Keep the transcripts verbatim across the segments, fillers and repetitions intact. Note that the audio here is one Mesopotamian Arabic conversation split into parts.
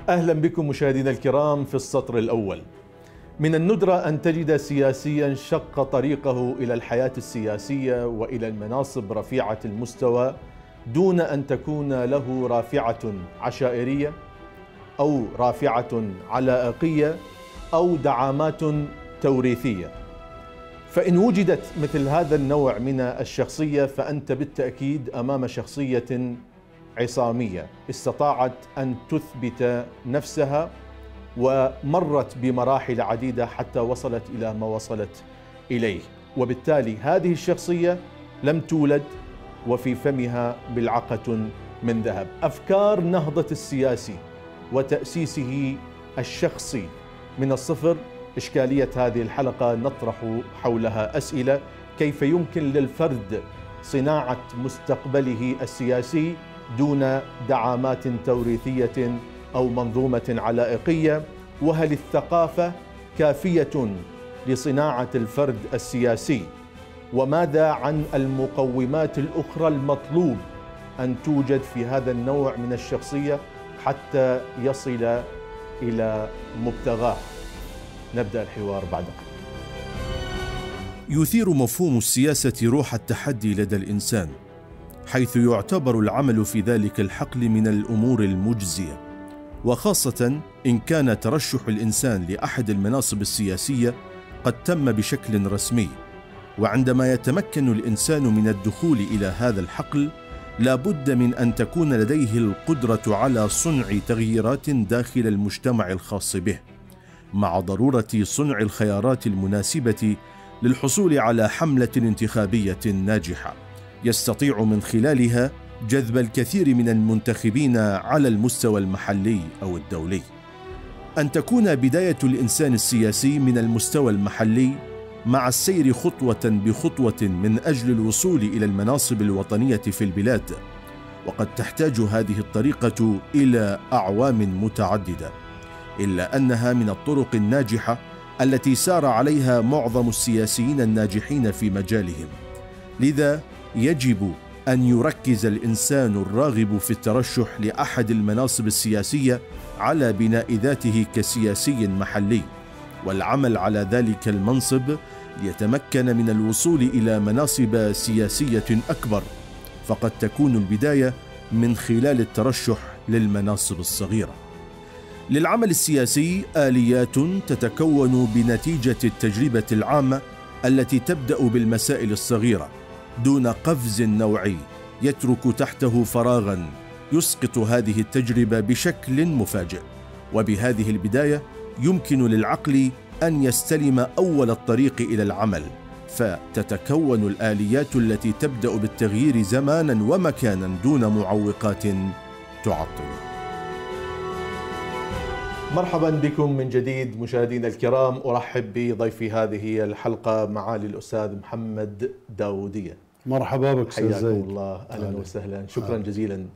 أهلا بكم مشاهدينا الكرام في السطر الأول. من الندرة أن تجد سياسيا شق طريقه إلى الحياة السياسية وإلى المناصب رفيعة المستوى دون أن تكون له رافعة عشائرية أو رافعة علائقية أو دعامات توريثية. فإن وجدت مثل هذا النوع من الشخصية فأنت بالتأكيد أمام شخصية عصامية استطاعت أن تثبت نفسها ومرت بمراحل عديدة حتى وصلت إلى ما وصلت إليه، وبالتالي هذه الشخصية لم تولد وفي فمها بلعقة من ذهب. أفكار نهضة السياسي وتأسيسه الشخصي من الصفر، إشكالية هذه الحلقة نطرح حولها أسئلة: كيف يمكن للفرد صناعة مستقبله السياسي دون دعامات توريثية أو منظومة علائقية؟ وهل الثقافة كافية لصناعة الفرد السياسي؟ وماذا عن المقومات الأخرى المطلوب أن توجد في هذا النوع من الشخصية حتى يصل إلى مبتغاه؟ نبدأ الحوار بعد قليل. يثير مفهوم السياسة روح التحدي لدى الإنسان، حيث يعتبر العمل في ذلك الحقل من الأمور المجزية، وخاصة إن كان ترشح الإنسان لأحد المناصب السياسية قد تم بشكل رسمي. وعندما يتمكن الإنسان من الدخول إلى هذا الحقل لا بد من أن تكون لديه القدرة على صنع تغييرات داخل المجتمع الخاص به، مع ضرورة صنع الخيارات المناسبة للحصول على حملة انتخابية ناجحة يستطيع من خلالها جذب الكثير من المنتخبين على المستوى المحلي أو الدولي. أن تكون بداية الإنسان السياسي من المستوى المحلي مع السير خطوة بخطوة من أجل الوصول إلى المناصب الوطنية في البلاد، وقد تحتاج هذه الطريقة إلى أعوام متعددة، إلا أنها من الطرق الناجحة التي سار عليها معظم السياسيين الناجحين في مجالهم. لذا يجب أن يركز الإنسان الراغب في الترشح لأحد المناصب السياسية على بناء ذاته كسياسي محلي، والعمل على ذلك المنصب ليتمكن من الوصول إلى مناصب سياسية أكبر، فقد تكون البداية من خلال الترشح للمناصب الصغيرة. للعمل السياسي آليات تتكون بنتيجة التجربة العامة التي تبدأ بالمسائل الصغيرة دون قفز نوعي يترك تحته فراغا يسقط هذه التجربة بشكل مفاجئ. وبهذه البداية يمكن للعقل أن يستلم أول الطريق إلى العمل، فتتكون الآليات التي تبدأ بالتغيير زمانا ومكانا دون معوقات تعطل. مرحبا بكم من جديد مشاهدينا الكرام. أرحب بضيفي هذه الحلقة معالي الأستاذ محمد داودية. مرحبا بك حياكم الله. أهلا وسهلا. شكرا جزيلا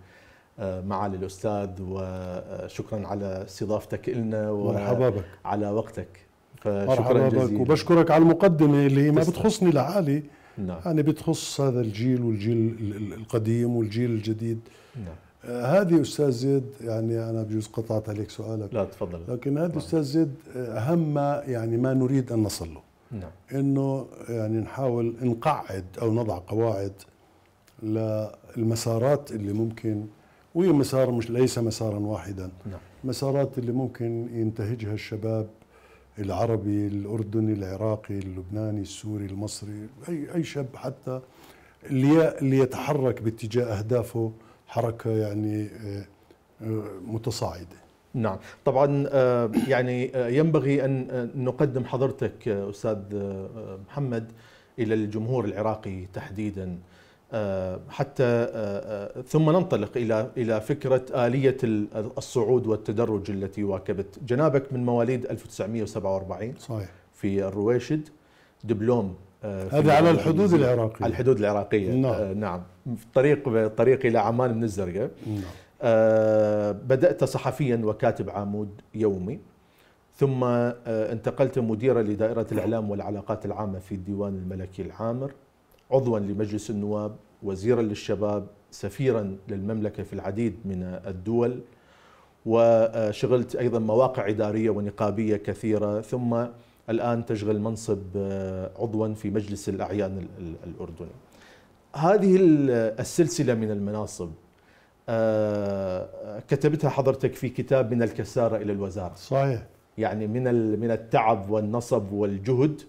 معالي الأستاذ، وشكرا على استضافتك لنا وعلى وقتك. فشكرا جزيلا. وبشكرك على المقدمة اللي ما بتخصني لحالي، نعم. يعني بتخص هذا الجيل والجيل القديم والجيل الجديد. نعم. آه هذه أستاذ زيد، يعني أنا بجوز قطعت عليك سؤالك. لا تفضل. لكن هذه أستاذ زيد أهم ما يعني ما نريد أن نصل له. نعم. إنه يعني نحاول نقعد أو نضع قواعد للمسارات اللي ممكن، وهي مسار مش ليس مسارا واحدا. نعم. مسارات اللي ممكن ينتهجها الشباب العربي، الأردني، العراقي، اللبناني، السوري، المصري، أي أي شاب حتى اللي اللي يتحرك باتجاه أهدافه حركة يعني متصاعدة. نعم. طبعا يعني ينبغي أن نقدم حضرتك أستاذ محمد إلى الجمهور العراقي تحديدا، حتى ثم ننطلق إلى إلى فكرة آلية الصعود والتدرج التي واكبت. جنابك من مواليد ألف وتسعمئة وسبعة وأربعين صحيح في الرويشد، دبلوم هذا على الحدود العراقية. على الحدود العراقية. نعم. نعم. في الطريق الطريق إلى عمان من الزرقاء. نعم. آه بدأت صحفيا وكاتب عمود يومي، ثم آه انتقلت مديرا لدائرة الإعلام والعلاقات العامة في الديوان الملكي العامر، عضوا لمجلس النواب، وزيرا للشباب، سفيرا للمملكة في العديد من الدول، وشغلت أيضا مواقع إدارية ونقابية كثيرة، ثم الآن تشغل منصب عضوا في مجلس الأعيان الأردني. هذه السلسلة من المناصب كتبتها حضرتك في كتاب من الكسارة إلى الوزارة. صحيح. يعني من من التعب والنصب والجهد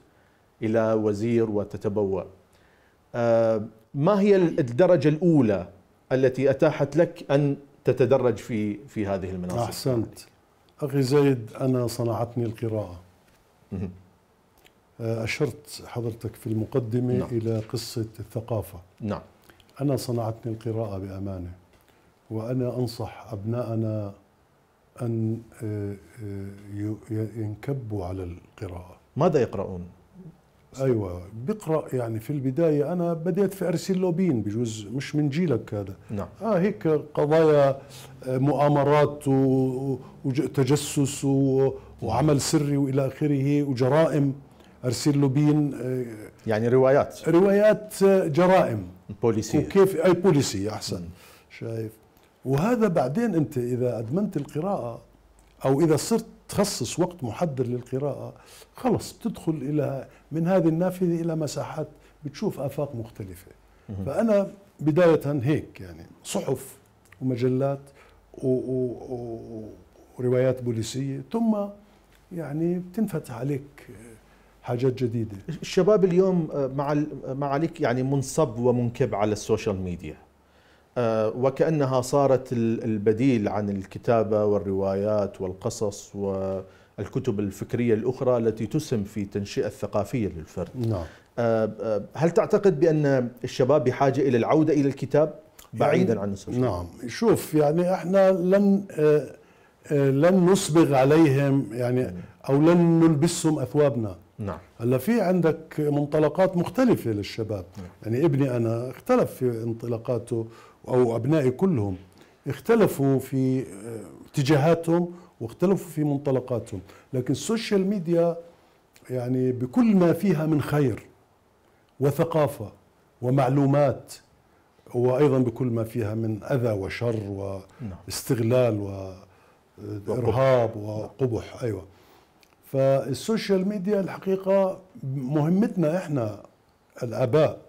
إلى وزير وتتبوأ. ما هي الدرجة الأولى التي أتاحت لك أن تتدرج في في هذه المناصب؟ أحسنت أخي زيد، أنا صنعتني القراءة. أشرت حضرتك في المقدمة نعم. إلى قصة الثقافة. نعم. أنا صنعتني القراءة بأمانة، وأنا أنصح أبنائنا أن ينكبوا على القراءة. ماذا يقرؤون؟ أيوة، بقرأ يعني في البداية أنا بديت في أرسل لوبين، بجوز مش من جيلك هذا. نعم. آه هيك قضايا مؤامرات وتجسس وعمل سري وإلى آخره وجرائم. أرسل لوبين يعني روايات روايات جرائم بوليسية، وكيف أي بوليسية أحسن. م. شايف؟ وهذا بعدين أنت إذا أدمنت القراءة أو إذا صرت تخصص وقت محدد للقراءة، خلص بتدخل إلى من هذه النافذة إلى مساحات بتشوف آفاق مختلفة. م. فأنا بداية هيك يعني صحف ومجلات وروايات بوليسية، ثم يعني بتنفتح عليك حاجات جديدة. الشباب اليوم مع مع عليك يعني منصب ومنكب على السوشيال ميديا، وكأنها صارت البديل عن الكتابة والروايات والقصص والكتب الفكرية الأخرى التي تسهم في التنشئة الثقافية للفرد. نعم. هل تعتقد بأن الشباب بحاجة إلى العودة إلى الكتاب بعيدا يعني عن السوشيال ميديا؟ نعم. شوف يعني احنا لن لن نصبغ عليهم يعني أو لن نلبسهم أثوابنا. نعم. هلا في عندك منطلقات مختلفة للشباب. نعم. يعني ابني أنا اختلف في انطلاقاته، أو أبنائي كلهم اختلفوا في اتجاهاتهم واختلفوا في منطلقاتهم، لكن السوشيال ميديا يعني بكل ما فيها من خير وثقافة ومعلومات، وأيضا بكل ما فيها من أذى وشر واستغلال وإرهاب وقبح. أيوة. فالسوشيال ميديا الحقيقة مهمتنا إحنا الآباء،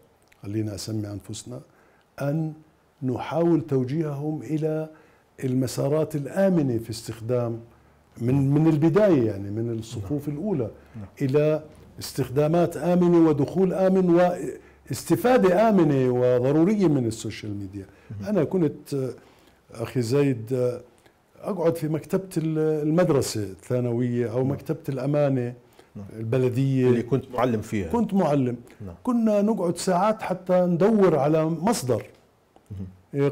خلينا أسمي أنفسنا، أن نحاول توجيههم إلى المسارات الآمنة في استخدام من من البداية، يعني من الصفوف الأولى إلى استخدامات آمنة ودخول آمن واستفادة آمنة وضرورية من السوشيال ميديا. أنا كنت أخي زيد أقعد في مكتبة المدرسة الثانوية أو مكتبة الأمانة البلدية اللي كنت معلم فيها. كنت معلم. كنا نقعد ساعات حتى ندور على مصدر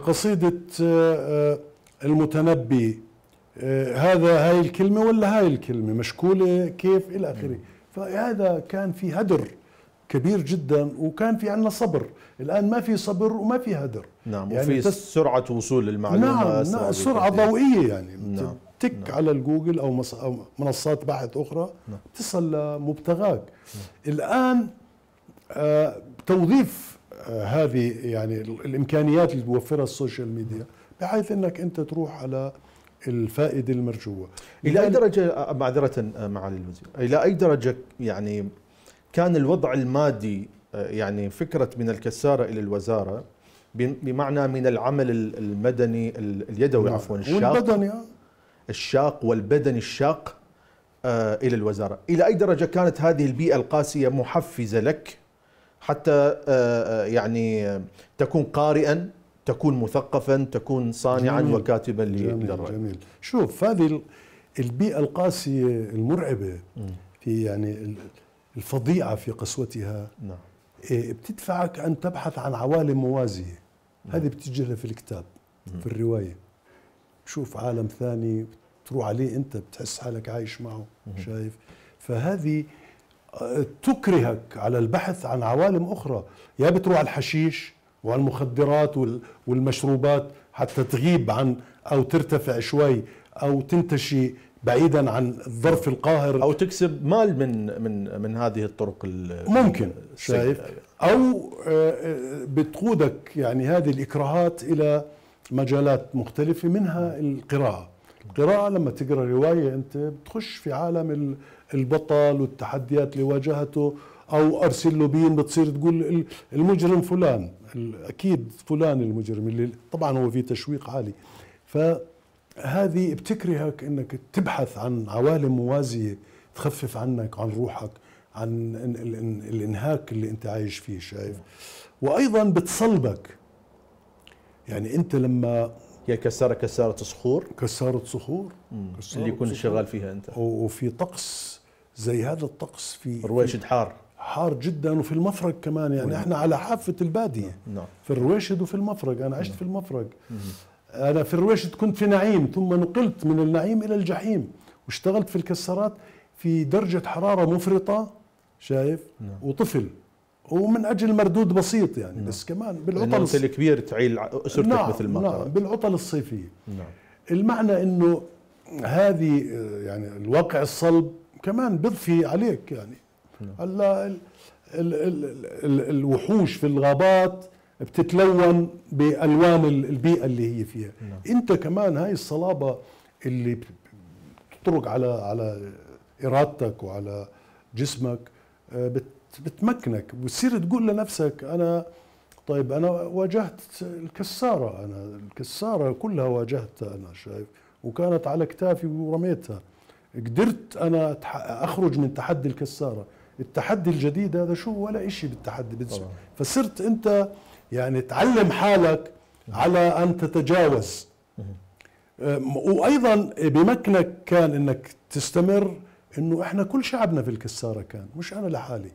قصيدة المتنبي، هذا هاي الكلمة ولا هاي الكلمة مشكولة كيف إلى آخره. فهذا كان في هدر كبير جدا، وكان في عندنا صبر. الآن ما في صبر وما في هدر. نعم. يعني وفي تس... سرعة وصول المعلومة. نعم. نعم. سرعة ضوئية يعني. نعم. تك نعم. على الجوجل أو, مص... أو منصات بحث أخرى. نعم. تصل لمبتغاك. نعم. الآن آه توظيف آه هذه يعني الإمكانيات اللي توفرها السوشيال ميديا بحيث أنك أنت تروح على الفائدة المرجوة. إلى أي درجة، معذرة معالي الوزير، إلى أي درجة يعني كان الوضع المادي، يعني فكرة من الكسارة إلى الوزارة بمعنى من العمل المدني اليدوي عفوا الشاق والبدني الشاق والبدني الشاق إلى الوزارة، إلى أي درجة كانت هذه البيئة القاسية محفزة لك حتى يعني تكون قارئا، تكون مثقفا، تكون صانعا جميل. وكاتبا للرأي؟ جميل. شوف هذه البيئة القاسية المرعبة في يعني الفظيعة في قسوتها. نعم. بتدفعك أن تبحث عن عوالم موازية. نعم. هذه بتجيها في الكتاب. مم. في الرواية تشوف عالم ثاني تروح عليه أنت بتحس حالك عايش معه. مم. شايف؟ فهذه تكرهك على البحث عن عوالم أخرى، يا بتروح على الحشيش وعلى المخدرات والمشروبات حتى تغيب عن أو ترتفع شوي أو تنتشي بعيدا عن الظرف القاهر، او تكسب مال من من من هذه الطرق ممكن. شايف؟ او بتقودك يعني هذه الاكراهات الى مجالات مختلفه منها القراءه. قراءة لما تقرأ رواية أنت بتخش في عالم البطل والتحديات اللي واجهته، أو أرسل له بين بتصير تقول المجرم فلان، أكيد فلان المجرم، اللي طبعا هو في تشويق عالي. فهذه بتكرهك أنك تبحث عن عوالم موازية تخفف عنك، عن روحك، عن الانهاك اللي انت عايش فيه، شايف؟ وايضا بتصلبك. يعني انت لما هي كسارة كسارة صخور، كسارة صخور كسارة اللي يكون شغال فيها انت، وفي طقس زي هذا الطقس، في رويشد حار حار جدا، وفي المفرق كمان. يعني احنا على حافة البادية، نعم، في الرويشد وفي المفرق. انا عشت في المفرق، انا في الرويشد كنت في نعيم، ثم نقلت من النعيم الى الجحيم، واشتغلت في الكسارات في درجة حرارة مفرطة، شايف؟ نعم. وطفل، ومن أجل مردود بسيط يعني. نعم. بس كمان بالعطل الص... الكبير تعيل أسرتك. نعم. مثل ما نعم، بالعطل الصيفية. نعم. المعنى إنه هذه يعني الواقع الصلب كمان بضفي عليك يعني. نعم. هلا ال... ال... ال... ال... الوحوش في الغابات بتتلون بألوان البيئة اللي هي فيها. نعم. أنت كمان هاي الصلابة اللي بتطرق على على إرادتك وعلى جسمك بتمكنك، وتصير تقول لنفسك أنا طيب أنا واجهت الكسارة، أنا الكسارة كلها واجهتها أنا، شايف؟ وكانت على كتافي ورميتها، قدرت أنا أخرج من تحدي الكسارة. التحدي الجديد هذا شو ولا إشي بالتحدي. فصرت أنت يعني تعلم حالك على أن تتجاوز. وأيضا بمكنك كان أنك تستمر، انه احنا كل شعبنا في الكساره كان، مش انا لحالي.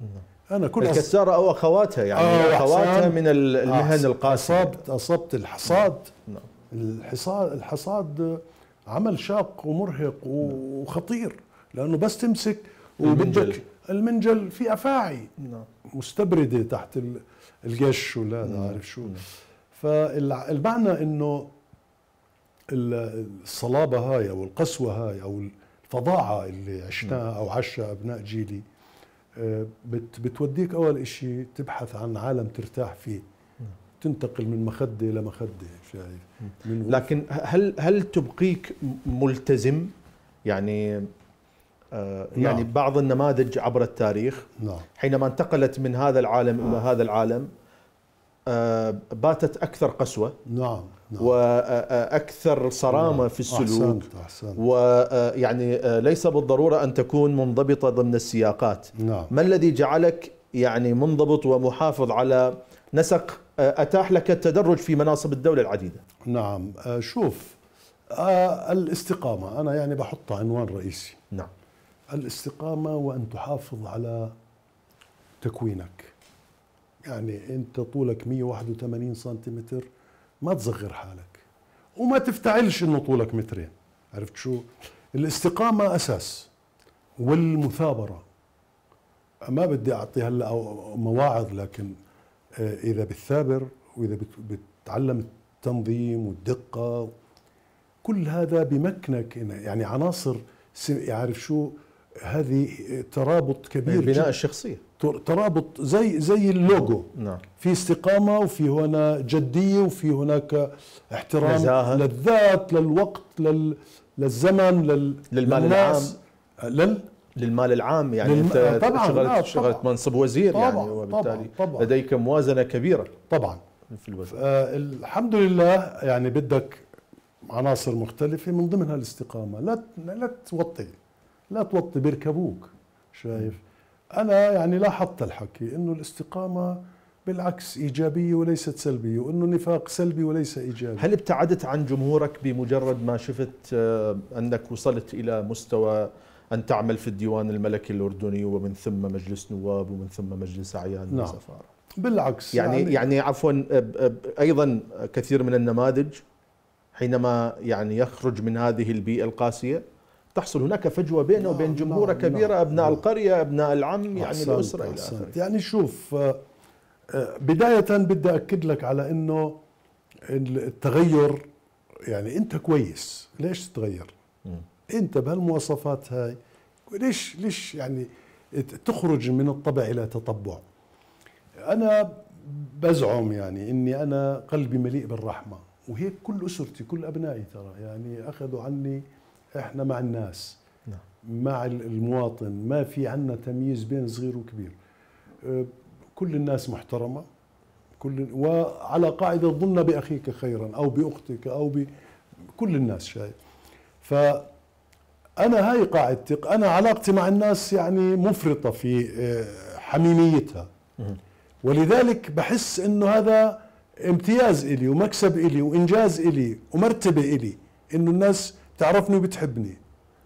انا كل الكساره او اخواتها يعني آه اخواتها من المهن القاسيه. اصبت اصبت الحصاد. نعم. الحصاد الحصاد عمل شاق ومرهق وخطير، لانه بس تمسك وبدك المنجل في افاعي. نعم. مستبرده تحت القش ولا نعم. عارف شو. نعم. فالمعنى انه الصلابه هاي او القسوه هاي او الفظاعة اللي عشناها أو عاشها أبناء جيلي بتوديك أول إشي تبحث عن عالم ترتاح فيه، تنتقل من مخدة إلى مخدة، شايف؟ لكن هل هل تبقيك ملتزم؟ يعني آه نعم. يعني بعض النماذج عبر التاريخ نعم. حينما انتقلت من هذا العالم إلى هذا العالم آه باتت أكثر قسوة. نعم. نعم. وأكثر صرامة نعم. في السلوك. أحسنت. أحسنت. ويعني ليس بالضرورة أن تكون منضبطة ضمن السياقات. نعم. ما الذي جعلك يعني منضبط ومحافظ على نسق أتاح لك التدرج في مناصب الدولة العديدة؟ نعم. شوف، الاستقامة أنا يعني بحطها عنوان رئيسي. نعم. الاستقامة وأن تحافظ على تكوينك. يعني أنت طولك مئة وواحد وثمانين سنتيمتر، ما تصغر حالك وما تفتعلش انه طولك مترين. عرفت شو؟ الاستقامة اساس، والمثابرة. ما بدي اعطي هلا مواعظ، لكن اذا بتثابر واذا بتتعلم التنظيم والدقة، كل هذا بمكنك يعني عناصر. يعرف شو هذه؟ ترابط كبير، بناء الشخصية، ترابط زي زي اللوجو. نعم. في استقامة، وفي هنا جدية، وفي هناك احترام نزاهة. للذات، للوقت، لل للزمن، لل للمال العام، لل للمال العام. يعني للم... انت طبعاً. شغلت آه شغلت طبعاً. منصب وزير طبعاً. يعني، وبالتالي طبعاً. طبعاً. لديك موازنة كبيرة طبعا في الوزن. آه الحمد لله. يعني بدك عناصر مختلفة من ضمنها الاستقامة. لا لا توطي لا توطي بيركبوك، شايف؟ أنا يعني لاحظت الحكي إنه الاستقامة بالعكس إيجابية وليست سلبية، وإنه النفاق سلبي وليس إيجابي. هل ابتعدت عن جمهورك بمجرد ما شفت أنك وصلت إلى مستوى أن تعمل في الديوان الملكي الأردني ومن ثم مجلس نواب ومن ثم مجلس أعيان نعم. وسفارة؟ بالعكس يعني يعني, يعني عفوا أيضا كثير من النماذج حينما يعني يخرج من هذه البيئة القاسية تحصل هناك فجوة بينه وبين نعم. جمهورة نعم. كبيرة. نعم. أبناء نعم. القرية، أبناء العم، يعني أحسنت. الأسرة إلى أحسنت. آخره. يعني شوف، بداية بدي أكد لك على إنه التغير، يعني أنت كويس، ليش تتغير؟ م. أنت بهالمواصفات هاي ليش ليش يعني تخرج من الطبع إلى تطبع؟ أنا بزعم يعني إني أنا قلبي مليء بالرحمة، وهيك كل أسرتي كل أبنائي ترى يعني أخذوا عني احنا مع الناس، نعم. مع المواطن، ما في عندنا تمييز بين صغير وكبير. كل الناس محترمة، كل وعلى قاعدة ظن بأخيك خيرا أو بأختك أو بكل الناس شايف. فأنا هاي قاعدتي، أنا علاقتي مع الناس يعني مفرطة في حميميتها، ولذلك بحس إنه هذا امتياز إلي ومكسب إلي وإنجاز إلي ومرتبة إلي، إنه الناس تعرفني وبتحبني.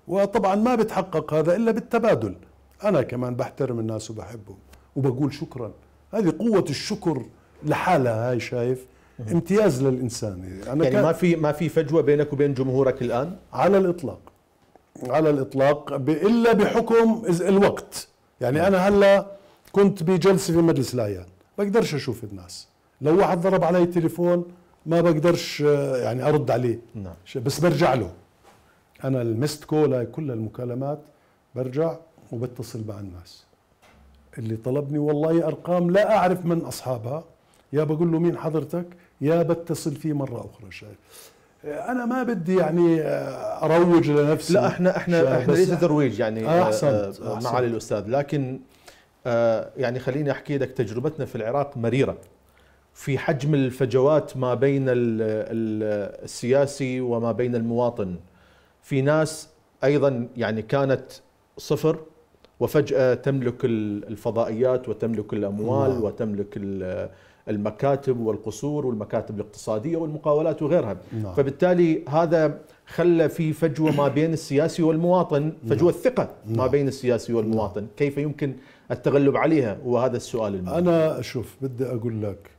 وطبعا ما بتحقق هذا إلا بالتبادل. أنا كمان بحترم الناس وبحبهم وبقول شكرا. هذه قوة الشكر لحالها، هاي شايف امتياز للإنسان. أنا يعني ما في ما في فجوة بينك وبين جمهورك الآن على الإطلاق، على الإطلاق، إلا بحكم الوقت. يعني أنا هلا كنت بجلسة في مجلس الأعيان، بقدرش أشوف الناس. لو واحد ضرب علي التليفون ما بقدرش يعني أرد عليه. نعم. بس برجع له. أنا المست كول، هاي كل المكالمات برجع وبتصل مع الناس اللي طلبني. والله أرقام لا أعرف من أصحابها، يا بقول له مين حضرتك، يا بتصل فيه مرة أخرى. شايف أنا ما بدي يعني أروج لنفسي. لا احنا احنا احنا ليس ترويج يعني أحسنت معالي الأستاذ، لكن يعني خليني أحكي لك تجربتنا في العراق مريرة في حجم الفجوات ما بين السياسي وما بين المواطن. في ناس أيضا يعني كانت صفر وفجأة تملك الفضائيات وتملك الأموال نعم. وتملك المكاتب والقصور والمكاتب الاقتصادية والمقاولات وغيرها. نعم. فبالتالي هذا خلى في فجوة ما بين السياسي والمواطن، فجوة نعم. ثقة ما نعم. بين السياسي والمواطن. نعم. كيف يمكن التغلب عليها؟ وهذا السؤال المهم. أنا شوف بدي أقول لك،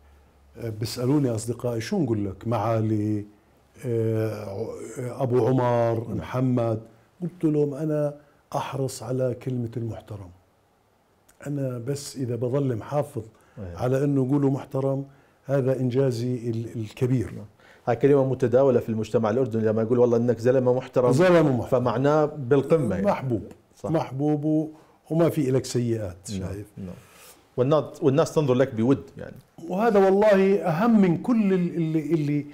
بيسألوني أصدقائي شو نقول لك معالي أبو عمر محمد، قلت لهم أنا أحرص على كلمة المحترم. أنا بس إذا بظل محافظ على أنه يقولوا محترم، هذا إنجازي الكبير. هاي كلمة متداولة في المجتمع الأردني، لما يقول والله أنك زلمة محترم، زلمة محترم فمعناه بالقمة يعني. محبوب. صح. محبوب وما في إلك سيئات. شايف. نعم. والناس والناس تنظر لك بود يعني. وهذا والله أهم من كل اللي اللي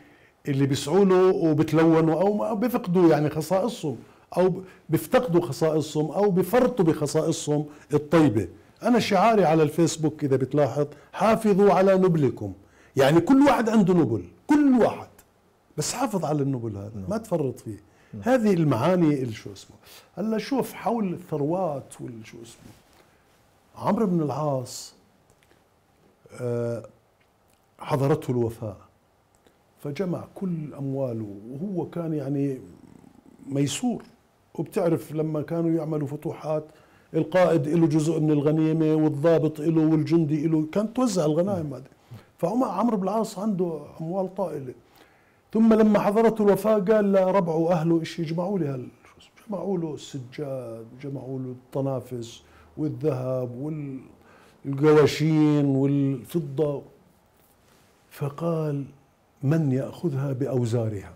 اللي بيسعوا له وبتلونوا أو بيفقدوا يعني خصائصهم، أو بيفتقدوا خصائصهم أو بيفرطوا بخصائصهم الطيبة. أنا شعاري على الفيسبوك إذا بتلاحظ، حافظوا على نبلكم. يعني كل واحد عنده نبل، كل واحد، بس حافظ على النبل هذا. نعم. ما تفرط فيه. نعم. هذه المعاني اللي شو اسمه. هلا شوف حول الثروات والشو اسمه، عمرو بن العاص حضرته الوفاة فجمع كل أمواله، وهو كان يعني ميسور. وبتعرف لما كانوا يعملوا فتوحات القائد له جزء من الغنيمة والضابط له والجندي له، كانت توزع الغنائم هذه. فعمرو بن العاص عنده أموال طائلة. ثم لما حضرته الوفاة قال لربعه وأهله إيش يجمعوا لي هال جمعوا له السجاد، جمعوا له الطنافس والذهب والقواشين والفضة. فقال من يأخذها بأوزارها،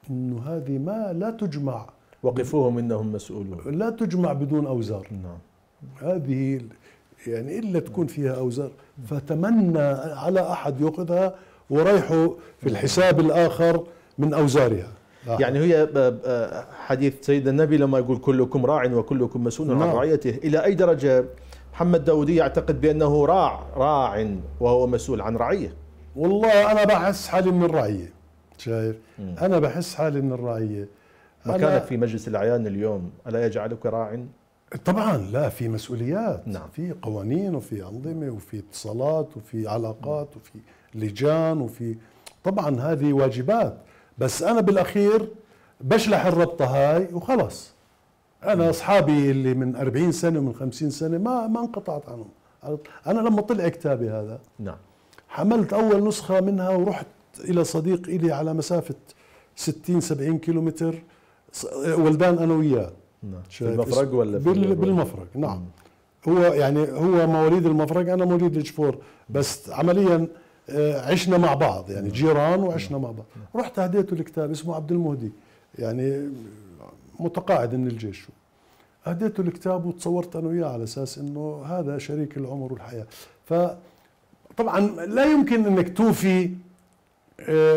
إنه هذه ما لا تجمع، وقفوهم إنهم مسؤولون، لا تجمع بدون أوزار. نعم. هذه يعني إلا تكون فيها أوزار. فتمنى على أحد يأخذها وريحه في الحساب الآخر من أوزارها. يعني هي حديث سيدنا النبي لما يقول كلكم راع وكلكم مسؤول عن رعيته. إلى أي درجة محمد داودي يعتقد بأنه راع راع وهو مسؤول عن رعية؟ والله أنا بحس حالي من الرعية. شايف؟ م. أنا بحس حالي من الرعية. مكانك في مجلس الأعيان اليوم ألا يجعلك راع؟ طبعا لا، في مسؤوليات. نعم. في قوانين وفي أنظمة وفي اتصالات وفي علاقات وفي لجان وفي، طبعا هذه واجبات. بس أنا بالأخير بشلح الربطة هاي وخلص. أنا أصحابي اللي من أربعين سنة ومن خمسين سنة ما ما انقطعت عنهم. أنا لما طلع كتابي هذا، نعم، حملت أول نسخة منها ورحت إلى صديق إلي على مسافة ستين سبعين كيلومتر، ولدان أنا وياه. نعم. في المفرق ولا في بال بالمفرق؟ نعم. مم. هو يعني هو مواليد المفرق، أنا مواليد الجفور، بس عمليا عشنا مع بعض يعني جيران وعشنا مع بعض. رحت هديته الكتاب، اسمه عبد المهدي، يعني متقاعد من الجيش. هديته الكتاب وتصورت أنا وياه على أساس إنه هذا شريك العمر والحياة. فطبعا لا يمكن إنك توفي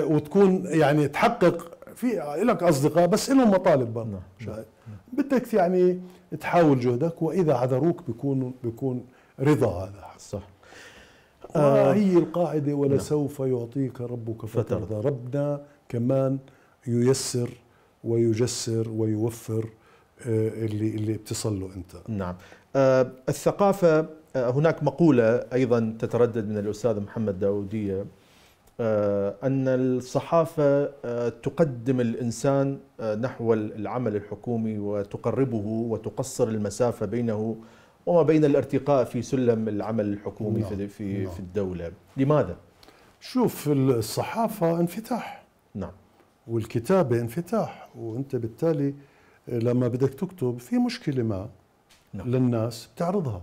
وتكون يعني تحقق في لك اصدقاء بس لهم مطالب برضه. نعم. شايف؟ بدك يعني تحاول جهدك، واذا عذروك بيكون بيكون رضا هذا. صح. وهي القاعده ولسوف يعطيك ربك فترضى. ربنا كمان ييسر ويجسر ويوفر اللي اللي بتصل له انت. نعم. آه الثقافه، آه هناك مقوله ايضا تتردد من الاستاذ محمد داوديه، آه ان الصحافه آه تقدم الانسان آه نحو العمل الحكومي وتقربه وتقصر المسافه بينه وما بين الارتقاء في سلم العمل الحكومي. نعم. في في, نعم. في الدوله. لماذا؟ شوف، الصحافه انفتاح. نعم. والكتابه انفتاح، وانت بالتالي لما بدك تكتب في مشكله ما نعم. للناس بتعرضها،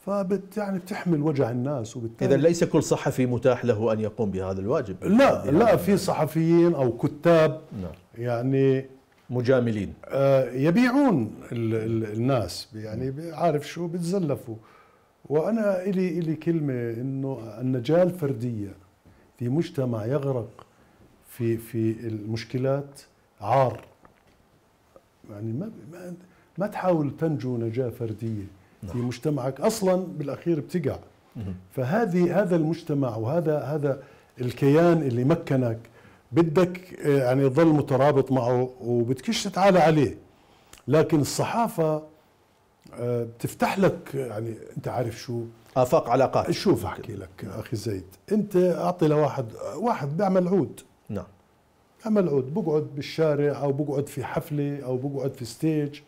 فبت يعني بتحمل وجع الناس، وبالتالي اذا ليس كل صحفي متاح له ان يقوم بهذا الواجب. لا لا، في صحفيين او كتاب نعم. يعني مجاملين آه يبيعون ال ال الناس، يعني عارف شو بتزلفوا. وانا الي الي كلمه انه النجاه الفرديه في مجتمع يغرق في في المشكلات عار. يعني ما ما, ما تحاول تنجو نجاه فرديه في مجتمعك اصلا بالاخير بتقع. فهذه هذا المجتمع وهذا هذا الكيان اللي مكنك بدك يعني تظل مترابط معه وبدكش تتعالى عليه. لكن الصحافه بتفتح لك، يعني انت عارف شو، آفاق علاقات. شوف احكي لك اخي زيد، انت اعطي لواحد واحد بيعمل عود. نعم. بيعمل عود، بقعد بالشارع او بقعد في حفله او بقعد في ستيج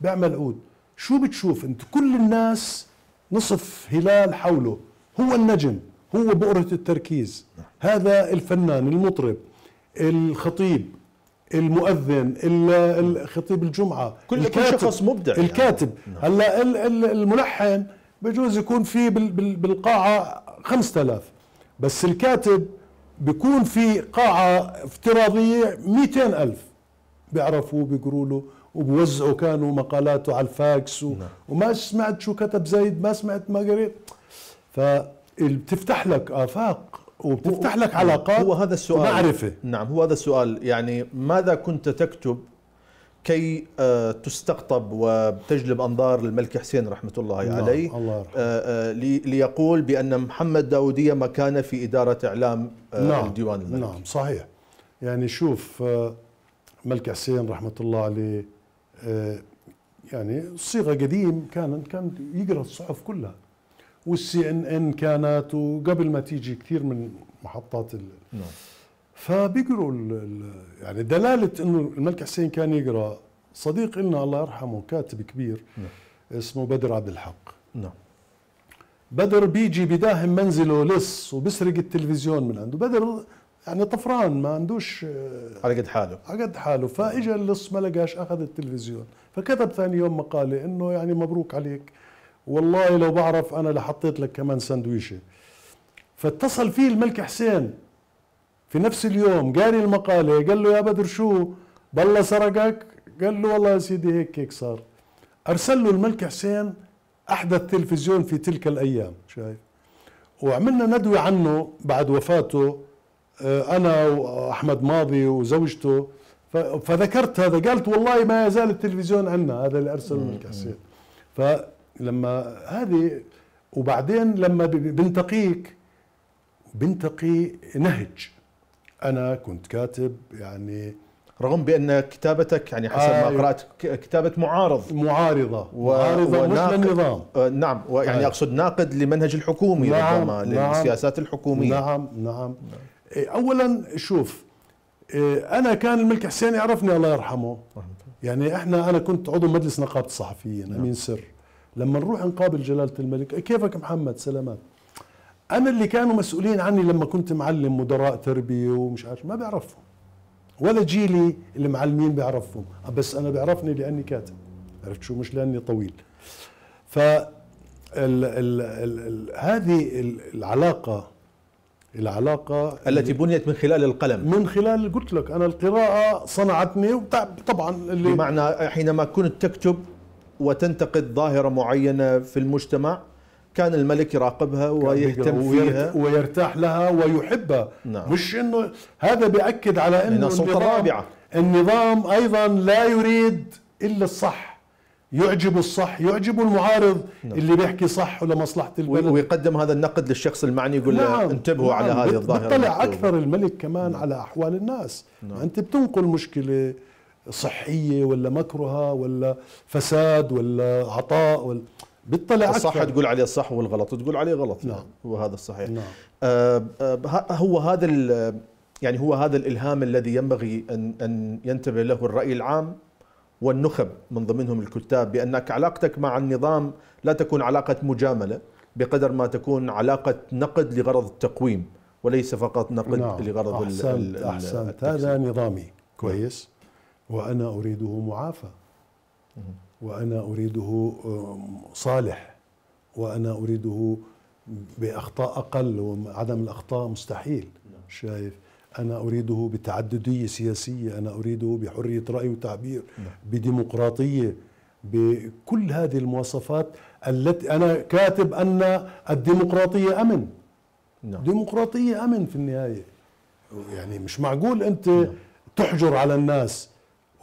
بيعمل عود. شو بتشوف انت؟ كل الناس نصف هلال حوله، هو النجم، هو بؤرة التركيز. نعم. هذا الفنان، المطرب، الخطيب، المؤذن، الخطيب الجمعة، كل شخص مبدع، الكاتب. يعني. هلا الملحن بجوز يكون في بالقاعة خمسة آلاف، بس الكاتب بيكون في قاعة افتراضية مئتين ألف بيعرفوا بيقروا له وبوزعوا كانوا مقالاته على الفاكس و... نعم. وما سمعت شو كتب زيد، ما سمعت ما قريت. فبتفتح لك آفاق وبتفتح لك علاقات. هو هذا السؤال، ومعرفة. نعم، هو هذا السؤال. يعني ماذا كنت تكتب كي تستقطب وتجلب أنظار الملك حسين رحمة الله نعم. عليه، الله ليقول بأن محمد داودية مكان في إدارة إعلام نعم. الديوان الملكي؟ نعم صحيح. يعني شوف، الملك حسين رحمة الله عليه يعني صيغة قديم كان كان يقرأ الصحف كلها، والسي ان ان كانت، وقبل ما تيجي كثير من محطات ال... نعم. فبيقروا ال... يعني دلالة انه الملك حسين كان يقرأ. صديق لنا الله يرحمه كاتب كبير نعم. اسمه بدر عبد الحق. نعم. بدر بيجي بداهم منزله لص وبسرق التلفزيون من عنده. بدر يعني طفران، ما عندوش على قد حاله على قد حاله. فاجا اللص ما لقاش، اخذ التلفزيون. فكتب ثاني يوم مقاله انه يعني مبروك عليك، والله لو بعرف انا لحطيت لك كمان سندويشه. فاتصل فيه الملك حسين في نفس اليوم، قاري المقاله، قال له يا بدر شو بالله سرقك؟ قال له والله يا سيدي هيك هيك صار. ارسل له الملك حسين احدث تلفزيون في تلك الايام، شايف؟ وعملنا ندوه عنه بعد وفاته انا واحمد ماضي وزوجته. فذكرت هذا، قالت والله ما يزال التلفزيون عندنا، هذا اللي ارسله الملك حسين. فلما هذه، وبعدين لما بنتقيك بنتقي نهج. انا كنت كاتب يعني، رغم بان كتابتك يعني حسب آه ما قرات كتابه معارض معارضه و... معارضه مش للنظام. آه نعم، ويعني آه. اقصد ناقد لمنهج الحكومي، نعم ربما نعم للسياسات الحكوميه. نعم نعم, نعم. اولا شوف، انا كان الملك حسين يعرفني الله يرحمه، يعني احنا انا كنت عضو مجلس نقابه الصحفيين، نعم. امين سر. لما نروح نقابل جلاله الملك، كيفك محمد؟ سلامات. انا اللي كانوا مسؤولين عني لما كنت معلم، مدراء تربيه ومش عارف، ما بيعرفهم، ولا جيلي اللي معلمين بيعرفهم، بس انا بيعرفني لاني كاتب، عرفت شو؟ مش لاني طويل. ف ال ال ال هذه العلاقه العلاقه التي بنيت من خلال القلم، من خلال، قلت لك انا القراءه صنعتني. طبعا اللي بمعنى حينما كنت تكتب وتنتقد ظاهره معينه في المجتمع، كان الملك يراقبها ويهتم فيها ويرتاح لها ويحبها. نعم. مش انه هذا بيأكد على انه السلطة الرابعة. النظام ايضا لا يريد الا الصح، يعجب الصح، يعجب المعارض. نعم. اللي بيحكي صح ولمصلحة البلد ويقدم هذا النقد للشخص المعني، يقول له نعم. انتبهوا نعم. على هذه الظاهرة. بيطلع اكثر الملك كمان نعم. على احوال الناس. نعم. انت بتنقل مشكلة صحية ولا مكرهة ولا فساد ولا عطاء ولا بيطلع الصح أكثر. تقول عليه الصح والغلط تقول عليه غلط. نعم. وهذا الصحيح. نعم. آه آه هو هذا يعني هو هذا الإلهام الذي ينبغي أن أن ينتبه له الرأي العام والنخب من ضمنهم الكتاب، بأنك علاقتك مع النظام لا تكون علاقة مجاملة بقدر ما تكون علاقة نقد لغرض التقويم وليس فقط نقد نعم. لغرض أحسنت أحسنت هذا نظامي كويس وأنا أريده معافى وأنا أريده صالح وأنا أريده بأخطاء أقل وعدم الأخطاء مستحيل. شايف؟ أنا أريده بتعددية سياسية، أنا أريده بحرية رأي وتعبير، بديمقراطية، بكل هذه المواصفات التي أنا كاتب أن الديمقراطية أمن. ديمقراطية أمن في النهاية. يعني مش معقول أنت تحجر على الناس